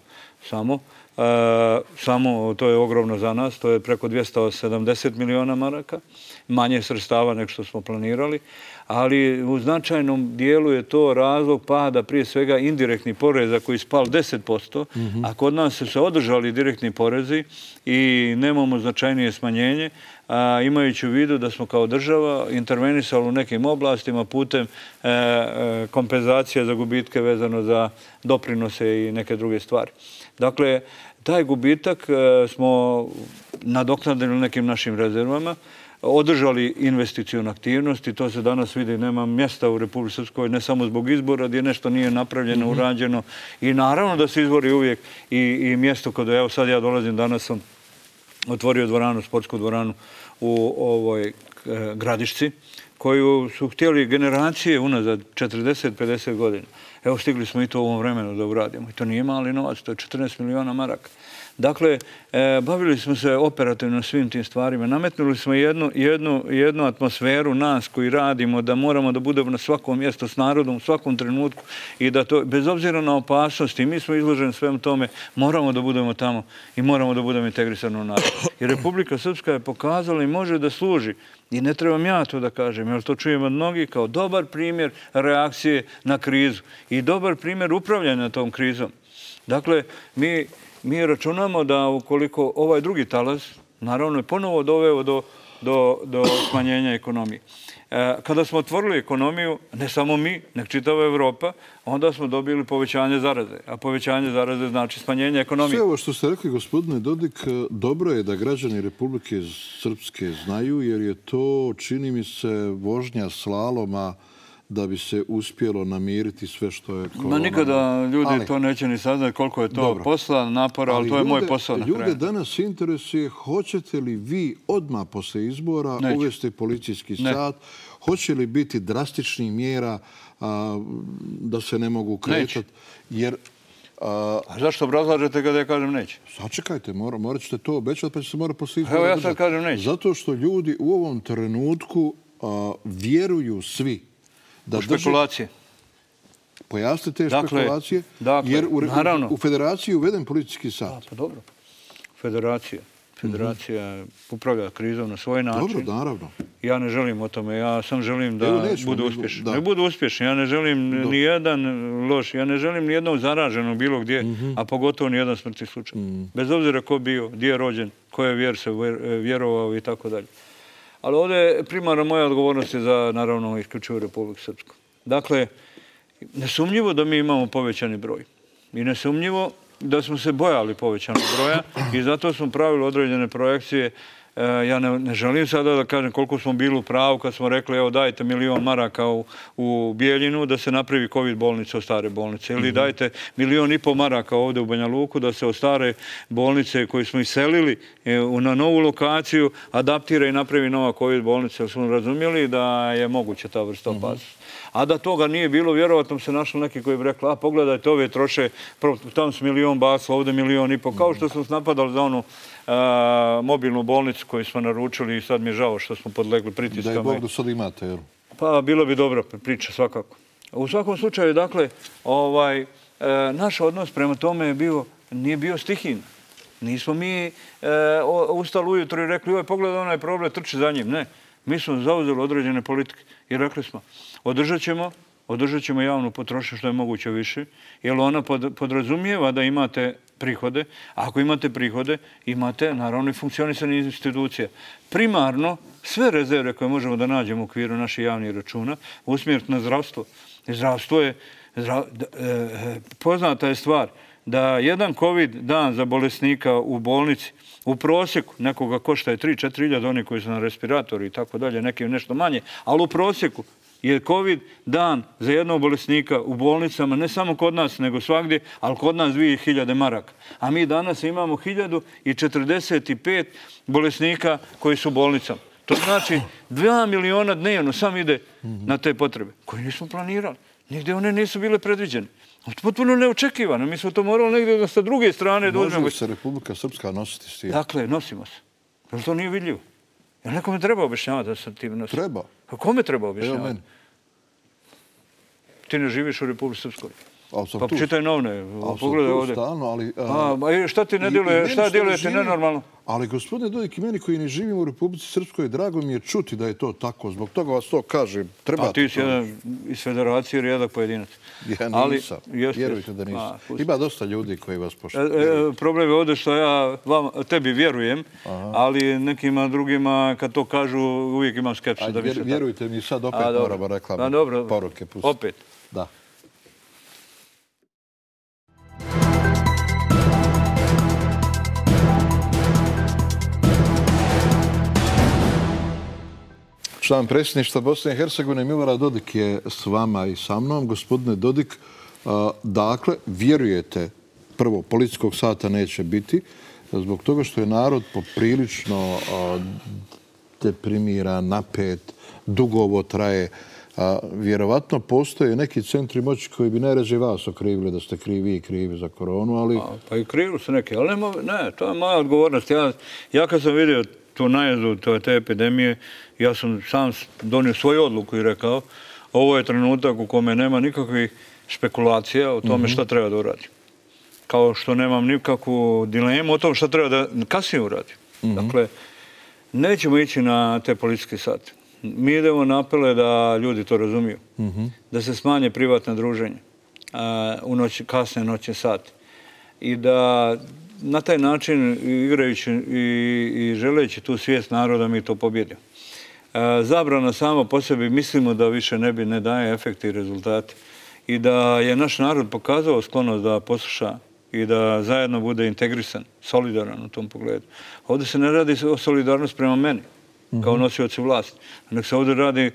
Samo, to je ogromno za nas, to je preko 270 miliona maraka, manje sredstava nego što smo planirali, ali u značajnom dijelu je to razlog pada prije svega indirektnih poreza koji spal 10%, a kod nas su se održali direktni porezi i nemamo značajnije smanjenje, imajući u vidu da smo kao država intervenisali u nekim oblastima putem kompenzacije za gubitke vezano za doprinose i neke druge stvari. Dakle, taj gubitak smo nadoknadili nekim našim rezervama, održali investicijnu aktivnost i to se danas vidi, nema mjesta u Republici Srpskoj, ne samo zbog izbora gdje nešto nije napravljeno, urađeno i naravno da se izbori uvijek i mjesto kada, evo sad ja dolazim, danas sam otvorio dvoranu, sportsku dvoranu u ovoj Gradišci, koju su htjeli generacije unazad 40-50 godina. Evo, stigli smo i to u ovom vremenu da uradimo. I to nije mali novac, to je 14 miliona maraka. Dakle, bavili smo se operativno svim tim stvarima. Nametnuli smo jednu atmosferu nas koji radimo, da moramo da budemo na svakom mjestu s narodom, u svakom trenutku i da to, bez obzira na opasnosti, mi smo izloženi svem tome, moramo da budemo tamo i moramo da budemo integrisani u narod. I Republika Srpska je pokazala i može da služi, i ne trebam ja to da kažem, jer to čujem od mnogih, kao dobar primjer reakcije na krizu i dobar primjer upravljanja tom krizom. Dakle, mi računamo da ukoliko ovaj drugi talas, naravno je ponovo doveo do smanjenja ekonomije. Kada smo otvorili ekonomiju, ne samo mi, nek čitava Evropa, onda smo dobili povećanje zaraze. A povećanje zaraze znači smanjenje ekonomije. Sve ovo što ste rekli, gospodine Dodik, dobro je da građani Republike Srpske znaju, jer je to, čini mi se, vožnja slaloma da bi se uspjelo namiriti sve što je korona. Ma nikada ljudi to neće ni saznati koliko je to posla, napora, ali to je moj posao na kraju. Ljude danas interesuje hoćete li vi odmah posle izbora uvesti policijski sat, hoće li biti drastičnih mjera da se ne mogu kretati, jer... A zašto obrazlažete kada ja kažem neće? Sačekajte, morat ćete to obećati pa će se mora posle izbora. Evo ja sad kažem neće. Zato što ljudi u ovom trenutku vjeruju svi u špekulacije. Pojasnite te špekulacije, jer u federaciji je uveden policijski sat. Pa dobro. Federacija upravlja krizom na svoj način. Dobro, naravno. Ja ne želim o tome. Ja sam želim da budu uspješni. Ne budu uspješni. Ja ne želim ni jedan loš. Ja ne želim ni jednog zaraženog bilo gdje, a pogotovo ni jedan smrtni slučaj. Bez obzira ko bio, gdje je rođen, koje vjer se vjerovao i tako dalje. Ali ovdje primarna moja odgovornost je za, naravno, isključivo Republiku Srpsku. Dakle, nesumnjivo da mi imamo povećani broj. I nesumnjivo da smo se bojali povećanog broja i zato smo pravili određene projekcije. Ja ne želim sada da kažem koliko smo bili u pravu kad smo rekli evo dajte 1 milion maraka u Bijeljinu da se napravi COVID bolnice od stare bolnice ili dajte 1,5 miliona maraka ovdje u Banja Luku da se od stare bolnice koju smo iselili na novu lokaciju adaptira i napravi nova COVID bolnica. Jer smo razumjeli da je moguće ta vrsta opasnosti. A da toga nije bilo, vjerovatno se našli neki koji bi rekli, a pogledajte, ove troše, tamo su 1 milion basla, ovdje 1,5 miliona, kao što smo napadali za onu mobilnu bolnicu koju smo naručili i sad mi je žao što smo podlegli pritiskama. Da je Bog da sad imate, jel? Pa bilo bi dobra priča svakako. U svakom slučaju, dakle, naš odnos prema tome nije bio stihijno. Nismo mi ustali ujutro i rekli, pogledaj onaj problem, trči za njim. Ne, mi smo zauzeli određene politike i rekli smo, održat ćemo javnu potrošnju što je moguće više, jer ona podrazumijeva da imate prihode. A ako imate prihode, imate naravno i funkcionisanje institucija. Primarno, sve rezerve koje možemo da nađemo u okviru naših javnih računa usmjeriti na zdravstvo. Zdravstvo je, poznata je stvar, da jedan COVID dan za bolesnika u bolnici u prosjeku nekoga košta je 3-4 hiljade, oni koji su na respiratoru i tako dalje, neki nešto manje, ali u prosjeku je COVID dan za jednog bolesnika u bolnicama, ne samo kod nas, nego svagdje, ali kod nas 2000 maraka. A mi danas imamo 1045 bolesnika koji su u bolnicama. To znači 2 miliona dnevno sam ide na te potrebe, koje nismo planirali. Nigdje one nisu bile predviđene. Potpuno neočekivano. Mi smo to morali negdje da sa druge strane dođemo. Može li se Republika Srpska nositi s tim? Dakle, nosimo se. Jer to nije vidljivo. Jer nekome treba objašnjavati da se tim nosi. Treba. A kome treba objašnjavati? Evo meni. Ti ne živiš u Republike Srpskoj. Pa tu. čitaj novine, pogledaj ovdje. Stalno, ali... Šta ti ne djeluje, šta djelujete nenormalno? Ali, gospodine Dodik, i meni koji ne živim u Republici Srpskoj, drago mi je čuti da je to tako. Zbog toga vas to kažem. Pa ti si jedan iz federacije rijedak pojedinac. Ja nisam. Vjerujte da nisam. Ima dosta ljudi koji vas poštuju. Problem je ovdje što ja tebi vjerujem, ali nekima drugima kad to kažu uvijek imam skepsu. Vjerujte mi, sad opet moramo reklame poruke pustiti. Opet? Da. Član predsjedništva Bosne i Hercegovine Milorad Dodik je s vama i sa mnom. Gospodine Dodik, dakle, vjerujete, prvo, policijskog sata neće biti, zbog toga što je narod poprilično deprimiran, napet, dugo ovo traje. A vjerovatno postoje neki centri moći koji bi najrađe vas okrivili da ste krivi i krivi za koronu, ali... Pa i krivi su neki, ali ne, to je moja odgovornost. Ja kad sam vidio tu najezdu te epidemije, ja sam sam donio svoju odluku i rekao, ovo je trenutak u kome nema nikakvih špekulacija o tome šta treba da uradi. Kao što nemam nikakvu dilemu o tom šta treba da kasnije uradi. Dakle, nećemo ići na te policijske sate. Mi idemo na apele da ljudi to razumiju. Da se smanje privatna druženja u kasne noćne sate. I da na taj način, igrajući i želeći tu svijest naroda, mi to pobjedimo. Zabrana sama po sebi mislimo da više ne daje efekte i rezultate. I da je naš narod pokazao sklonost da posluša i da zajedno bude integrisan, solidaran u tom pogledu. Ovdje se ne radi o solidarnosti prema meni, kao nosioci vlasti, nego se ovdje radi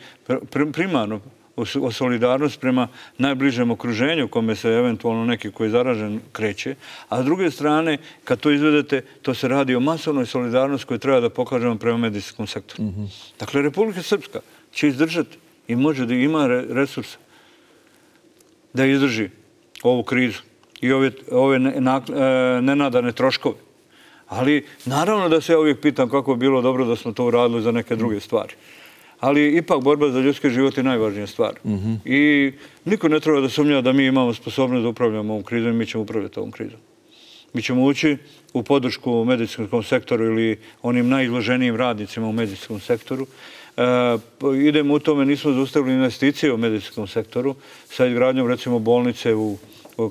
primarno o solidarnosti prema najbližem okruženju kome se eventualno neki koji je zaražen kreće, a s druge strane, kad to izvedete, to se radi o masovnoj solidarnosti koju treba da pokažemo prema medicinskom sektoru. Dakle, Republika Srpska će izdržati i može da ima resursa da izdrži ovu krizu i ove nenadane troškove. Ali naravno da se ja uvijek pitam kako bi bilo dobro da smo to uradili za neke druge stvari. Ali ipak borba za ljudski život je najvažnija stvar. I niko ne treba da sumnja da mi imamo sposobnost da upravljamo ovom krizom i mi ćemo upravljati ovom krizom. Mi ćemo ući u podršku medicinskom sektoru ili onim najizloženijim radnicima u medicinskom sektoru. Idemo u tome, nismo zaustavili investicije u medicinskom sektoru sa izgradnjom recimo bolnice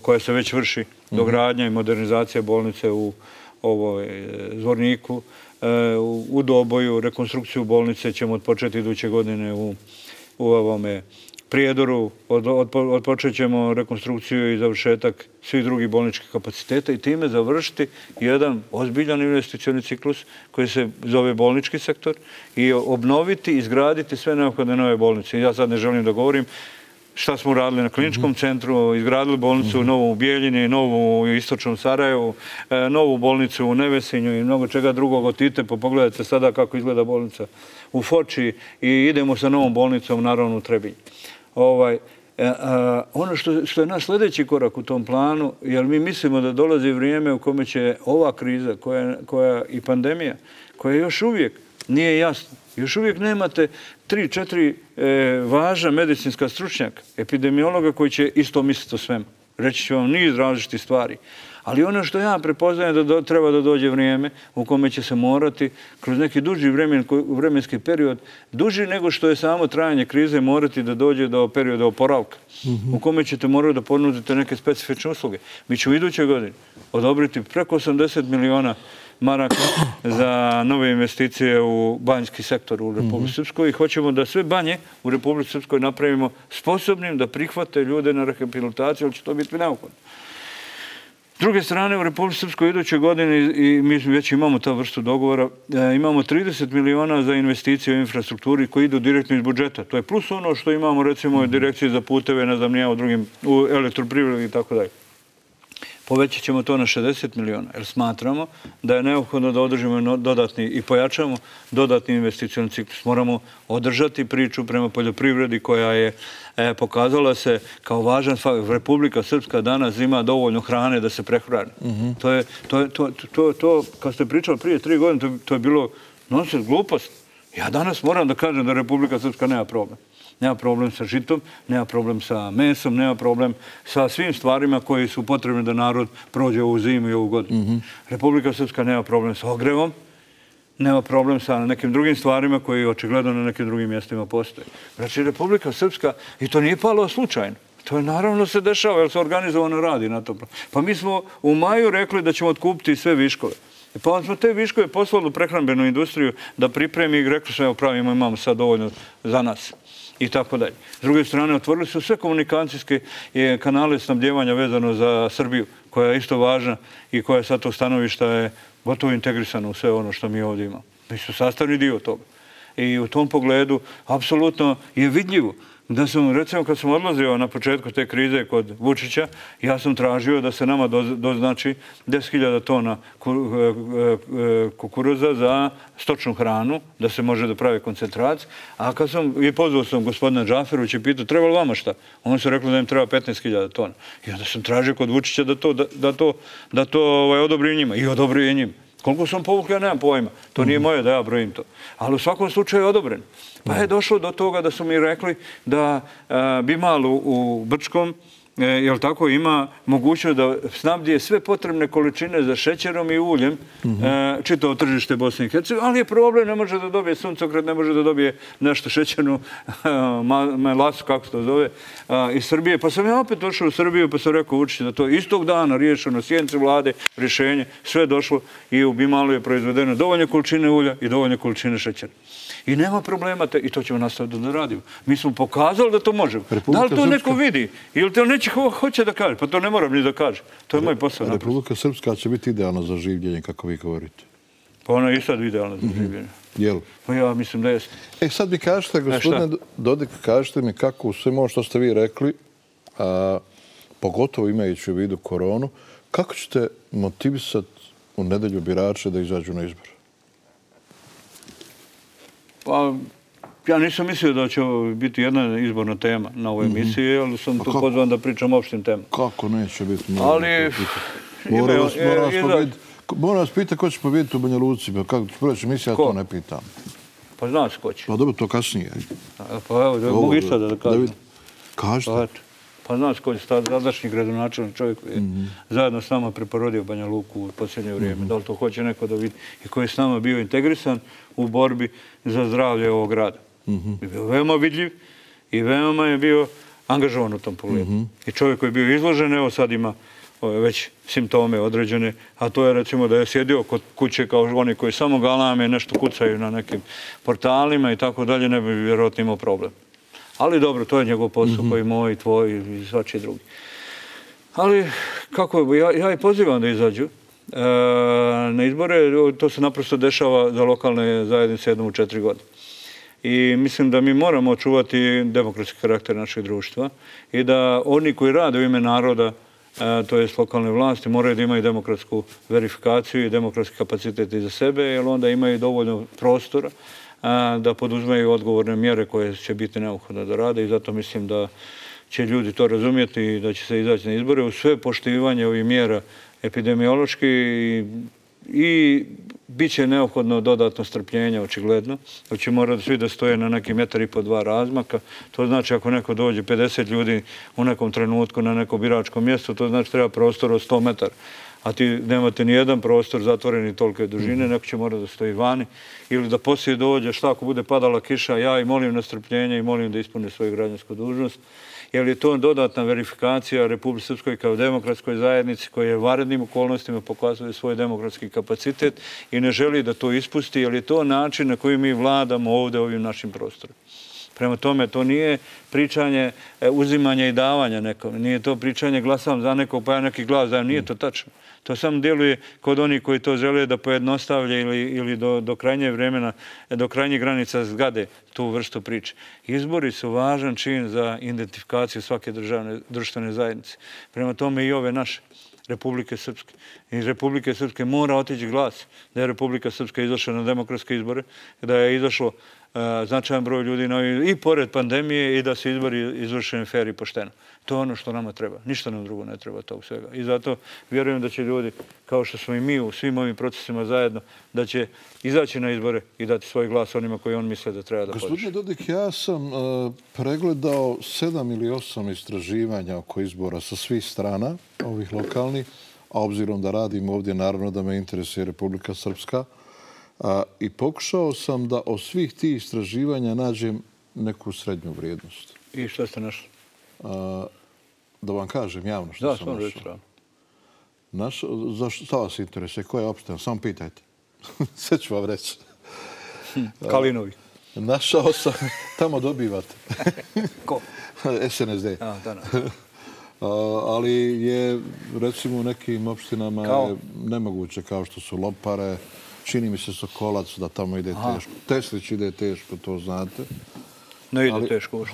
koja se već vrši, dogradnja i modernizacija bolnice u Zvorniku, u Doboju, rekonstrukciju bolnice ćemo odpočeti iduće godine u Prijedoru, odpočet ćemo rekonstrukciju i završetak svih drugih bolničkih kapaciteta i time završiti jedan ozbiljan investicioni ciklus koji se zove bolnički sektor i obnoviti, izgraditi sve neophodne nove bolnice. Ja sad ne želim da govorim šta smo uradili na kliničkom centru, izgradili bolnicu novu u Bijeljini, novu u istočnom Sarajevu, novu bolnicu u Nevesinju i mnogo čega drugog. Otidite, pogledajte sada kako izgleda bolnica u Foči i idemo sa novom bolnicom naravno u Trebinju. Ono što je naš sljedeći korak u tom planu, jer mi mislimo da dolazi vrijeme u kome će ova kriza i pandemija, koja još uvijek nije jasna, još uvijek nemate 3-4 važna medicinska stručnjaka, epidemiologa koji će isto misliti o svemu. Reći ću vam niz različitih stvari. Ali ono što ja prepoznajem da treba da dođe vrijeme u kome će se morati kroz neki duži vremenski period, duži nego što je samo trajanje krize, morati da dođe do perioda oporavka, u kome ćete morati da ponudite neke specifične usluge. Mi ćemo iduće godine odobriti preko 80 miliona maraka za nove investicije u banjski sektor u Republici Srpskoj i hoćemo da sve banje u Republici Srpskoj napravimo sposobnim da prihvate ljude na rehabilitaciju, ali će to biti neophodno. S druge strane, u Republici Srpskoj iduće godine, i mi već imamo ta vrstu dogovora, imamo 30 miliona za investicije u infrastrukturi koji idu direktno iz budžeta. To je plus ono što imamo recimo u direkciji za puteve, ne znam, u elektroprivredi i tako dalje. Povećat ćemo to na 60 miliona, jer smatramo da je neophodno da održimo dodatni i pojačamo dodatni investicioni ciklus. Moramo održati priču prema poljoprivredi koja je pokazala se kao važan faktor. Republika Srpska danas ima dovoljno hrane da se prehrani. To, kad ste pričali prije 3 godine, to je bilo nonsens, glupost. Ja danas moram da kažem da Republika Srpska nema problem. Nema problem sa žitom, nema problem sa mesom, nema problem sa svim stvarima koji su potrebni da narod prođe ovu zimu i ovu godinu. Republika Srpska nema problem sa ogrevom, nema problem sa nekim drugim stvarima koji očigledno na nekim drugim mjestima postoje. Znači, Republika Srpska, i to nije palo slučajno, to je naravno se dešava jer se organizovano radi na to. Pa mi smo u maju rekli da ćemo otkupiti sve viškove. Pa onda smo te viškove poslali u prehrambenu industriju da pripremi i rekli smo, evo pravimo, imamo sad dovoljno za nas. I tako dalje. S druge strane, otvorili su sve komunikacijske kanale snabdjevanja vezano za Srbiju, koja je isto važna i koja sa tog stanovišta je gotovo integrisana u sve ono što mi ovdje imamo. Mi su sastavni dio toga. I u tom pogledu apsolutno je vidljivo Da sam, recimo, kad sam odlazio na početku te krize kod Vučića, ja sam tražio da se nama doznači 10.000 tona kukuruza za stočnu hranu, da se može da pravi koncentrat. A kad sam, i pozvao sam gospodina Džaferovića i pitao, treba li vama šta? Oni su rekli da im treba 15.000 tona. I onda sam tražio kod Vučića da to odobri njima. I odobrio je njima. Koliko sam povukli, ja nemam pojma. To nije moje da ja brojim to. Ali u svakom slučaju je odobren. Pa je došlo do toga da su mi rekli da Bimal u Brčkom, jel tako, ima mogućnost da snabdije sve potrebne količine za šećerom i uljem čitavo tržište Bosne i Hercegovine, ali je problem, ne može da dobije suncokret, ne može da dobije nešto šećernu melasu, kako se to zove, iz Srbije. Pa sam ja opet došao u Srbiju, pa sam rekao Vučiću da to istog dana riješeno, sjednici vlade, rješenje, sve došlo i u Bimalu je proizvedeno dovoljne količine ulja i dovoljne količine šećera. I nema problema, i to ćemo nastaviti da radimo. Mi smo pokazali da to možemo. Da li to neko vidi? Ili to neće hoće da kaže? Pa to ne moram ni da kaže. To je moj posao. Republika Srpska će biti idealna za življenje, kako vi govorite. Pa ona je i sad idealna za življenje. Jel? Pa ja mislim da jeste. Sad mi kažete, gospodine Dodik, kažete mi kako u svemu ovo što ste vi rekli, pogotovo imajući u vidu koronu, kako ćete motivisati u nedelju birače da izađu na izbor? Pa, ja nisam mislio da će biti jedna izborna tema na ovoj emisiji, ali sam tu pozvan da pričam o opštim temama. Kako neće biti? Ali... Moram vas pitati ko će pobjediti u Banja Luci. Kako ću proći emisija, ja to ne pitam. Pa znaš ko će. Pa dobro, to kasnije. Pa evo, mogu i sada da kažem. Kažete. Pa znaš ko je sadašnji gradonačelnik čovjek koji je zajedno s nama preporodio Banja Luku u posljednje vrijeme. Da li to hoće neko da vidi i koji je s nama bio integrisan u borbi za zdravlje ovog grada. Je bio veoma vidljiv i veoma je bio angažovan u tom pogledu. I čovjek koji je bio izložen, evo sad ima već simptome određene, a to je recimo da je sjedio kod kuće kao oni koji samo galame, nešto kucaju na nekim portalima i tako dalje, ne bi vjerojatno imao problem. Ali dobro, to je njegov posao koji je moj, tvoj i svačiji drugi. Ali, kako je, ja i pozivam da izađu na izbore, to se naprosto dešava za lokalne zajednice jednom u 4 godine. I mislim da mi moramo očuvati demokratski karakter našeg društva i da oni koji rade u ime naroda, to je lokalne vlasti, moraju da imaju demokratsku verifikaciju i demokratski kapacitet i za sebe, jer onda imaju dovoljno prostora da poduzmeju odgovorne mjere koje će biti neophodne da rade i zato mislim da će ljudi to razumjeti i da će se izaći na izbore u sve poštivanje ovih mjera epidemiološki i bit će neophodno dodatno strpljenje, očigledno. Da će morati svi da stoje na neki 1,5-2 razmaka. To znači ako neko dođe 50 ljudi u nekom trenutku na neko biračko mjesto, to znači treba prostor od 100 metara. A ti nemate ni jedan prostor zatvoreni tolike dužine, neko će morati da stoji vani. Ili da poslije dođe, šta ako bude padala kiša, ja i molim na strpljenje i molim da ispune svoju građansku dužnost. Jer je to dodatna verifikacija Republike Srpskoj kao demokratskoj zajednici koja je u vanrednim okolnostima pokazuje svoj demokratski kapacitet i ne želi da to ispusti, jer je to način na koji mi vladamo ovdje ovim našim prostorom. Prema tome, to nije pričanje uzimanja i davanja nekom, nije to pričanje glasam za nekog pa ja neki glas dajem, nije to tačno. To samo djeluje kod onih koji to žele da pojednostavlje ili do krajnje vremena, do krajnjih granica zgade tu vrstu priče. Izbori su važan čin za identifikaciju svake društvene zajednice. Prema tome i ove naše. Republike Srpske. Iz Republike Srpske mora otići glas da je Republika Srpska izašla na demokratske izbore, da je izašlo značajan broj ljudi i pored pandemije i da se izbori izvršeni fer i pošteno. To je ono što nama treba. Ništa nam drugo ne treba tog svega. I zato vjerujem da će ljudi, kao što smo i mi u svim ovim procesima zajedno, da će izaći na izbore i dati svoj glas onima koji on misle da treba da podrži. Gospodine Dodik, ja sam pregledao 7 ili 8 istraživanja oko izbora sa svih strana, ovih lokalnih, a obzirom da radim ovdje, naravno da me interesuje Republika Srpska, i pokušao sam da od svih tih istraživanja nađem neku srednju vrijednost. I što ste našli? Da vam kažem javno što sam našao. Šta vas interesuje? Koja je opština? Samo pitajte. Sve ću vam reći. Kalinovi. Našao sam, tamo dobivate. Ko? SNSD. Ali je, recimo, u nekim opštinama nemoguće, kao što su Lopare, čini mi se Sokolac da tamo ide teško. Teslić ide teško, to znate. Ne ide teško.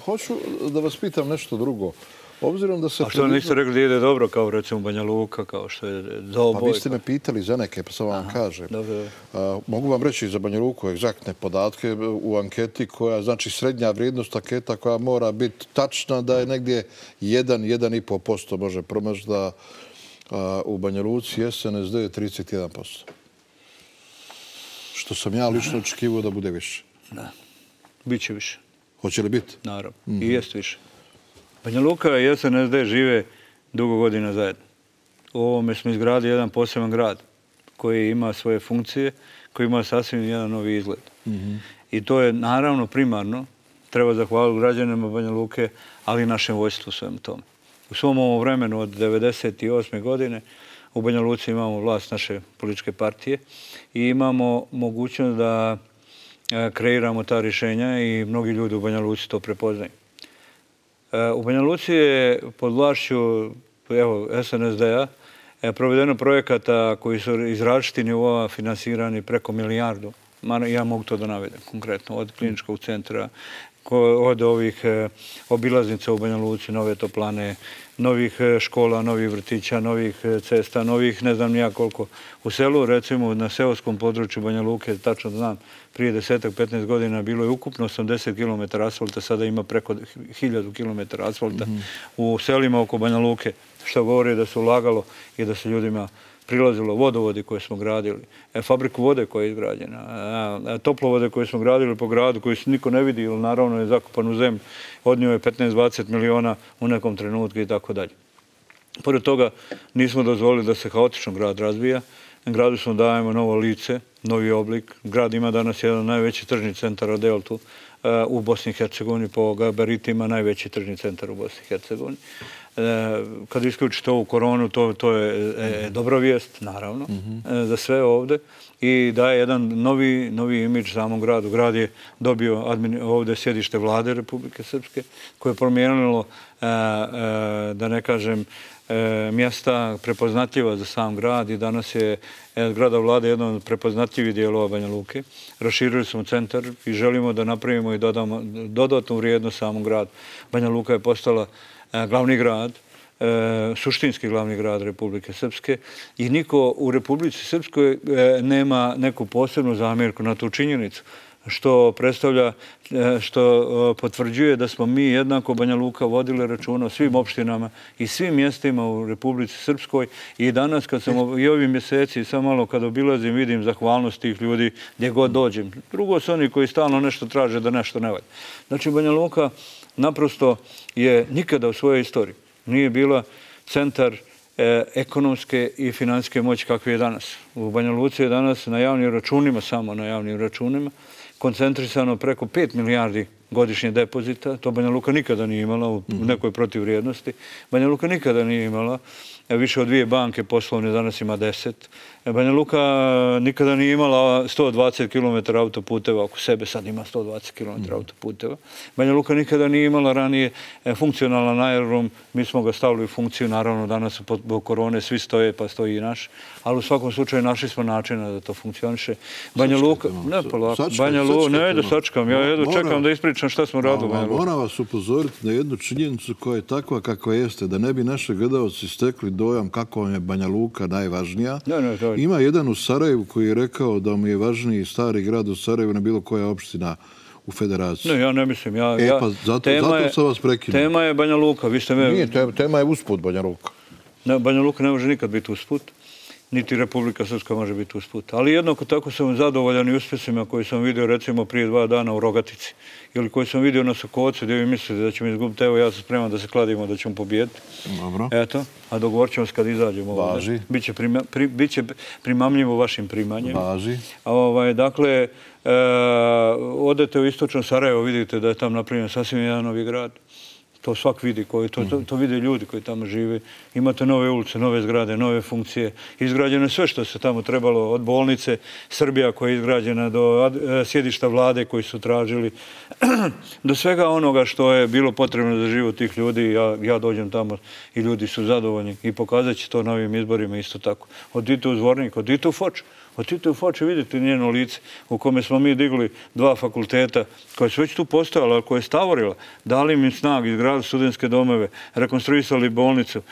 Hoću da vas pitam nešto drugo. Obzirom da se... A što niste rekli da ide dobro, kao recimo Banja Luka, kao što je Doboj? Pa vi ste me pitali za neke, pa sam vam kažem. Mogu vam reći za Banja Luku egzaktne podatke u anketi koja, znači srednja vrijednost anketa koja mora biti tačna da je negdje 1,5% može promaći da u Banja Luci SNSD je 31%. Što sam ja lično očekivao da bude više. Da. Biće više. Hoće li biti? Naravno. I jest više. Banja Luka i SNSD žive dugo godina zajedno. U ovome smo izgradili jedan poseban grad koji ima svoje funkcije, koji ima sasvim jedan novi izgled. I to je naravno primarno, treba zahvaliti građanima Banja Luke, ali i našem vojstvu svem tome. U svom ovom vremenu od 1998. godine u Banja Luci imamo vlast naše političke partije i imamo mogućnost da kreiramo ta rješenja i mnogi ljudi u Banja Luci to prepoznaju. U Banja Luci je pod vlašću SNSD-a provedeno projekata koji su iz različitih nivoa finansirani preko milijardu. Ja mogu to da navedem konkretno. Od kliničkog centra, od ovih obilaznica u Banja Luci, nove toplane, novih škola, novih vrtića, novih cesta, novih ne znam nija koliko. U selu, recimo na seoskom području Banja Luke, tačno znam, prije 10-15 godina bilo je ukupno 80 km asfalta, sada ima preko 1000 km asfalta u selima oko Banja Luke, što govori da se ulagalo i da se ljudima prilazilo vodovodi koje smo gradili, fabriku vode koja je izgrađena, toplovode koje smo gradili po gradu koji se niko ne vidi, jer naravno je zakopan u zemlji, odnio je 15-20 miliona u nekom trenutku i tako dalje. Pored toga nismo dozvolili da se haotično grad razvija. Gradu smo dajemo novo lice, novi oblik. Grad ima danas jedan najveći tržni centar od Deltu u Bosni i Hercegovini, po gabaritima najveći tržni centar u Bosni i Hercegovini. Kad isključite ovu koronu, to je dobra vijest, naravno, za sve ovde i daje jedan novi imidž samom gradu. Grad je dobio ovde sjedište vlade Republike Srpske koje je promijenilo, da ne kažem, mjesta prepoznatljiva za sam grad i danas je zgrada vlade jedan od prepoznatljivih dijelova Banja Luke. Raširili smo centar i želimo da napravimo i dodamo dodatnu vrijednost samom gradu. Banja Luka je postala glavni grad, suštinski glavni grad Republike Srpske i niko u Republici Srpskoj nema neku posebnu zamjerku na tu činjenicu, što predstavlja, što potvrđuje da smo mi jednako Banja Luka vodili računa o svim opštinama i svim mjestima u Republici Srpskoj i danas kad sam i ovih mjeseci sam malo kad obilazim vidim zahvalnost tih ljudi gdje god dođem. Drugo su oni koji stalno nešto traže da nešto ne valja. Znači Banja Luka naprosto je nikada u svojoj istoriji nije bila centar ekonomske i financijske moći kakve je danas. U Banja Luci je danas na javnim računima, samo na javnim računima, koncentrisano preko 5 milijardi godišnje depozita. To Banja Luka nikada nije imala u nekoj protivvrijednosti. Banja Luka nikada nije imala više od 2 banke poslovne, danas ima 10. Banja Luka nikada nije imala 120 km autoputeva oko sebe, sad ima 120 km autoputeva. Banja Luka nikada nije imala ranije funkcionalan aerodrom, mi smo ga stavili u funkciju, naravno danas po korone svi stoje pa stoji i naš, ali u svakom slučaju našli smo načina da to funkcioniše. Banja Luka, ne polako, Banja Luka, ne da sačekam, ja jedno čekam da ispričam šta smo radili u Banja Luka. Moram vas upozoriti na jednu činjenicu koja je takva kakva jeste, da ne bi naši gledalci stekli dojam kako vam je Banja Luka najvažnija. Ima jedan u Sarajevu koji je rekao da mu je važniji stari grad u Sarajevu na bilo koja opština u federaciji. Ne, ja ne mislim. Pa zato sam vas prekinuo. Tema je Banja Luka. Nije, tema je usput Banja Luka. Banja Luka ne može nikad biti usput. Niti Republika Srpska može biti usput. Ali jednako tako sam zadovoljan i uspjesima koji sam vidio recimo prije 2 dana u Rogatici. Ili koji sam vidio na Sokovcu gdje vi mislite da ćemo izgubiti. Evo ja sam spreman da se kladimo da ćemo pobijediti. Dobro. Eto, a dogovorit ćemo se kad izađemo. Važi. Biće primamljivo vašim primanjem. Važi. Dakle, odete u istočno Sarajevo, vidite da je tam napravljen sasvim jedan novi grad. To svak vidi, to vide ljudi koji tamo žive. Imate nove ulice, nove zgrade, nove funkcije. Izgrađeno je sve što se tamo trebalo, od bolnice Srbija koja je izgrađena, do sjedišta vlade koji su tražili, do svega onoga što je bilo potrebno za život tih ljudi. Ja dođem tamo i ljudi su zadovoljni i pokazat će to na ovim izborima isto tako. Odite u Zvornik, odite u Foč. Otidite u Foču, vidite njeno lice u kome smo mi digli 2 fakulteta koje su već tu postojala, koje je stavorila, dali im snag, izgradili studentske domove, rekonstruisali bolnicu,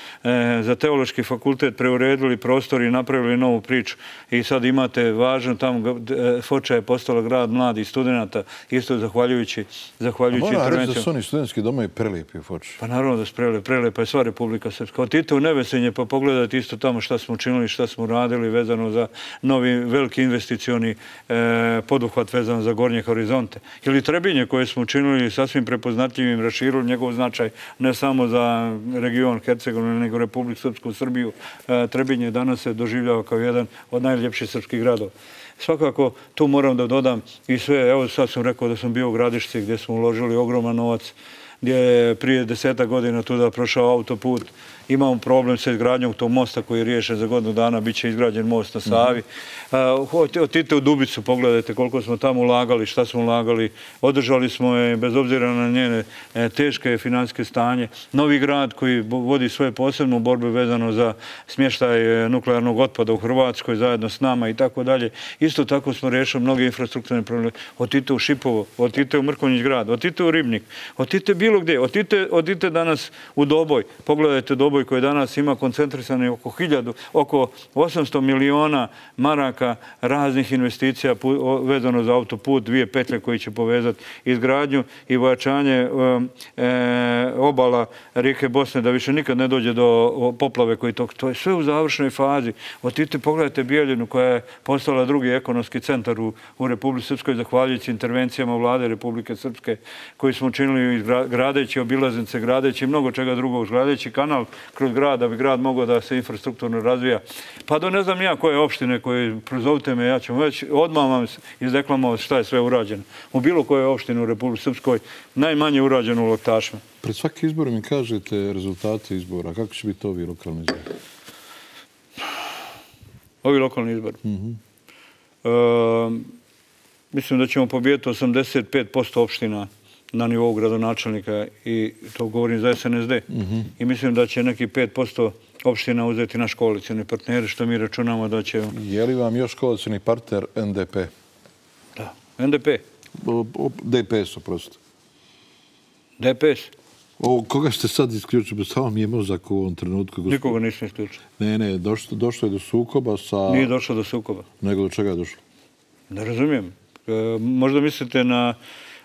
za teološki fakultet preuredili prostor i napravili novu priču. I sad imate važno tamo, Foča je postala grad mladih studenta, isto zahvaljujući intervencijom. Moram reći da su oni studentski domovi prelijepi u Foči. Pa naravno da su prelijepa je sva Republika Srpska. Otidite u Nevesenje pa pogledajte isto tamo šta smo učinili, šta smo radili vezano za novi veliki investicioni poduhvat vezano za Gornje horizonte. Ili Trebinje koje smo učinili sasvim prepoznatljivim, raširili njegov značaj ne samo za region Hercegovine, nego Republiku Srpsku, Srbiju. Trebinje danas se doživljava kao jedan od najljepših srpskih gradova. Svakako, tu moram da dodam i sve, evo sad sam rekao da sam bio u Gradišci gdje smo uložili ogroman novac, gdje je prije 10 godina tuda prošao autoput. Imamo problem sa izgradnjom tog mosta koji je riješen za godinu dana, bit će izgrađen most na Savi. Otidite u Dubicu, pogledajte koliko smo tamo ulagali, šta smo ulagali. Održali smo je, bez obzira na njene teške financijske stanje. Novi grad koji vodi svoje posebnu borbe vezano za smještaj nuklearnog otpada u Hrvatskoj zajedno s nama i tako dalje. Isto tako smo riješili mnoge infrastrukturne probleme. Otidite u Šipovo, otidite u Mrkonjić grad, otidite u Ribnik, otidite bilo gdje, otidite danas u Doboj, pogledajte Doboj koji danas ima koncentrisane oko 800 miliona maraka raznih investicija vezano za autoput, 2 petlje koji će povezati izgradnju i pojačanje obala rijeke Bosne da više nikad ne dođe do poplave koji to je sve u završnoj fazi. Otidite, pogledajte Bijeljinu koja je postala drugi ekonomski centar u Republici Srpskoj zahvaljujući intervencijama vlade Republike Srpske koji smo učinili gradeći obilaznice, gradeći mnogo čega drugog, gradeći kanal kroz grad, da bi grad mogao da se infrastrukturno razvija. Pa do ne znam ja koje opštine koje prozovite me, ja ću već odmah vam izdeklamovati šta je sve urađeno. U bilo koje opštine u Republici Srpskoj najmanje urađeno u Laktašima. Pred svaki izbor mi kažete rezultate izbora. Kako će biti ovi lokalni izbori? Ovi lokalni izbori? Mislim da ćemo pobijediti 85% opština na nivou gradonačelnika i to govorim za SNSD. I mislim da će neki 5% opština uzeti naš koalicioni partneri, što mi računamo da će... Je li vam još koalicioni partner NDP? Da, NDP. DPS, oprosto. DPS? Koga ste sad isključili? Samo mi je mozak u ovom trenutku. Nikoga nisam isključio. Ne, došlo je do sukoba sa... Nije došlo do sukoba. Nego do čega je došlo? Ne razumijem. Možda mislite na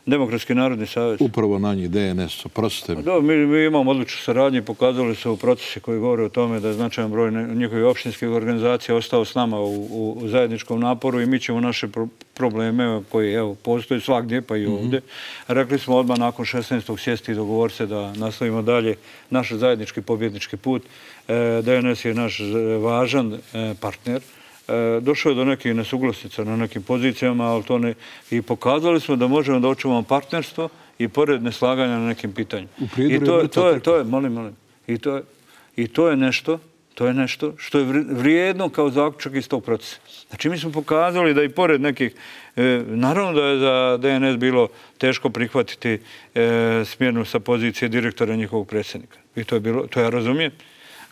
Demokratski narodni savez. Upravo na njih, DNS, oprostite mi. Da, mi imamo odličnu saradnju i pokazali su u procesi koji govore o tome da je značajan broj njihovih opštinskih organizacija ostao s nama u zajedničkom naporu i mi ćemo naše probleme koji postoje svakdje, pa i ovdje. Rekli smo odmah nakon 16. sjesti i dogovor se da nastavimo dalje naš zajednički pobjednički put. DNS je naš važan partner. Došlo je do nekih nesuglasica na nekim pozicijama, ali to ne... I pokazali smo da možemo da očuvamo partnerstvo i pored neslaganja na nekim pitanjima. I to je, molim, i to je nešto što je vrijedno kao zaključak iz tog procesa. Znači, mi smo pokazali da i pored nekih... Naravno da je za DNS bilo teško prihvatiti smjenu sa pozicije direktora njihovog predsjednika. I to ja razumijem.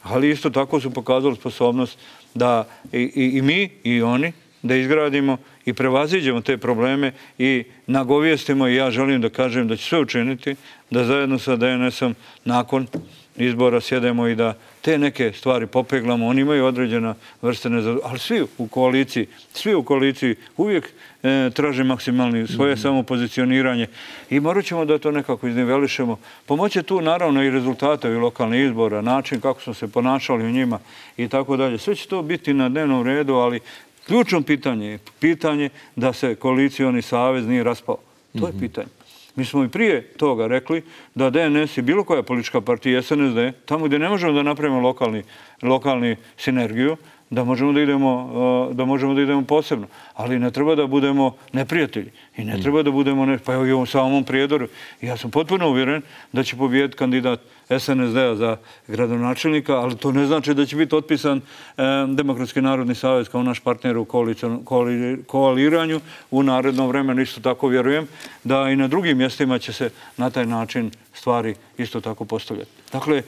Ali isto tako su pokazali sposobnost da i mi i oni da izgradimo i prevaziđemo te probleme i nagovijestimo i ja želim da kažem da će sve učiniti da zajedno sa DNS-om nakon izbora sjedemo i da te neke stvari popeglamo. Oni imaju određena vrste nezadovoljstva, ali svi u koaliciji uvijek traže maksimalni svoje samopozicioniranje i morat ćemo da to nekako iznivelišemo. Pomoće tu naravno i rezultate i lokalnih izbora, način kako smo se ponašali u njima i tako dalje. Sve će to biti na dnevnom redu, ali ključno pitanje je pitanje da se koalicioni savez nije raspao. To je pitanje. Mi smo i prije toga rekli da DNS i bilo koja politička partija, SNSD, tamo gdje ne možemo da napravimo lokalni sinergiju, da možemo da idemo posebno. Ali ne treba da budemo neprijatelji. I ne treba da budemo, pa i u ovom samom Prijedoru. Ja sam potpuno uvjeren da će pobijediti kandidat SNSD-a za gradonačelnika, ali to ne znači da će biti otpisan Demokratski narodni savez kao naš partner u koaliranju u narednom vremenu. Isto tako vjerujem da i na drugim mjestima će se na taj način stvari isto tako postavljati. Dakle,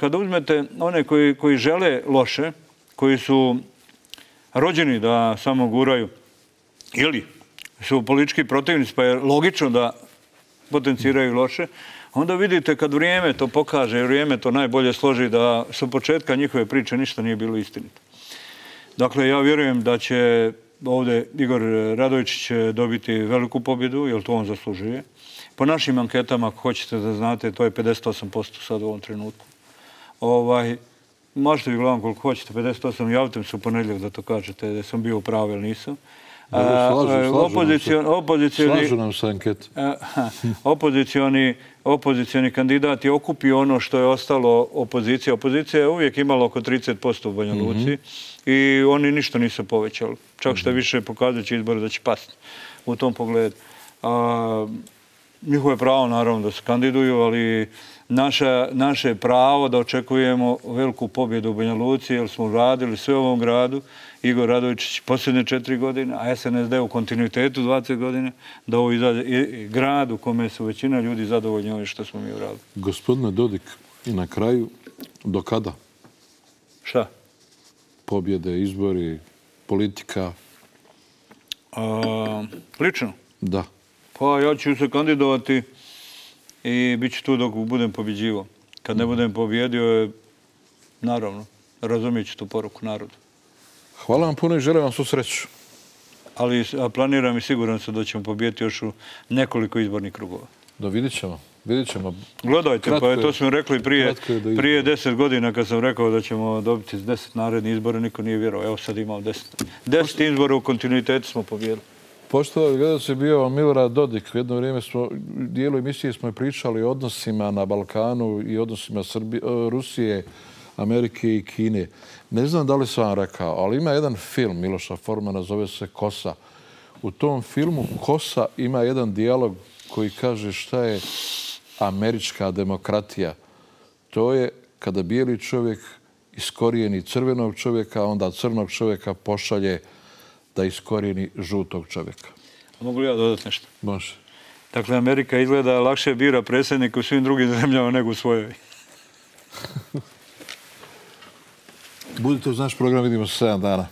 kada uzmete one koji žele loše, koji su rođeni da samo guraju ili su politički protivnici, pa je logično da potenciraju loše, onda vidite kad vrijeme to pokaže, vrijeme to najbolje složi da su početka njihove priče ništa nije bilo istinito. Dakle, ja vjerujem da će ovdje Igor Radojičić dobiti veliku pobjedu, jer to on zaslužuje. Po našim anketama, ako hoćete da znate, to je 58% sad u ovom trenutku. Možete vi gledam koliko hoćete, 58, javite mi se u ponedjeljak da to kažete, da sam bio u pravu ili nisam. Slažu nam se ankete. Opozicioni kandidat je okupio ono što je ostalo opozicija. Opozicija je uvijek imala oko 30% u Banja Luci i oni ništa nisu povećali. Čak što više pokazat će izbor da će pasti u tom pogledu. Njihovo je pravo naravno da se kandiduju, ali naše je pravo da očekujemo veliku pobjedu u Banja Luci, jer smo radili sve u ovom gradu. Igor Radojičić posljednje 4 godine, a SNSD u kontinuitetu 20 godina, da ovo izađe grad u kome su većina ljudi zadovoljni ovim što smo mi uradili. Gospodine Dodik, i na kraju, do kada? Šta? Pobjede, izbori, politika? Lično? Da. Pa ja ću se kandidovati i bit ću tu dok budem pobjeđivo. Kad ne budem pobjedio, naravno, razumijet ću tu poruku narodu. Hvala vam puno i želim vam svu sreću. Ali planiram i siguran sam da ćemo pobijeti još u nekoliko izbornih krugova. Da, vidit ćemo. Gledajte, pa to smo rekli prije 10 godina kad sam rekao da ćemo dobiti 10 narednih izbora, niko nije vjerovao. Evo sad imamo 10. 10 izbora u kontinuitetu smo pobjedili. Poštovani gledalci, je bio Milorad Dodik. U jedno vrijeme u dijelu emisije smo pričali o odnosima na Balkanu i odnosima Rusije, Amerike i Kine. Ne znam da li sam vam rekao, ali ima jedan film Miloša Formana, zove se Kosa. U tom filmu Kosa ima jedan dijalog koji kaže šta je američka demokratija. To je kada bijeli čovjek iskorijeni crvenog čovjeka, onda crnog čovjeka pošalje da iskorijeni žutog čovjeka. Mogu li ja dodati nešto? Može. Dakle, Amerika izgleda lakše bira predsjednika u svim drugim zemljama nego u svojoj. Budite uz naš program, vidimo se 7 dana.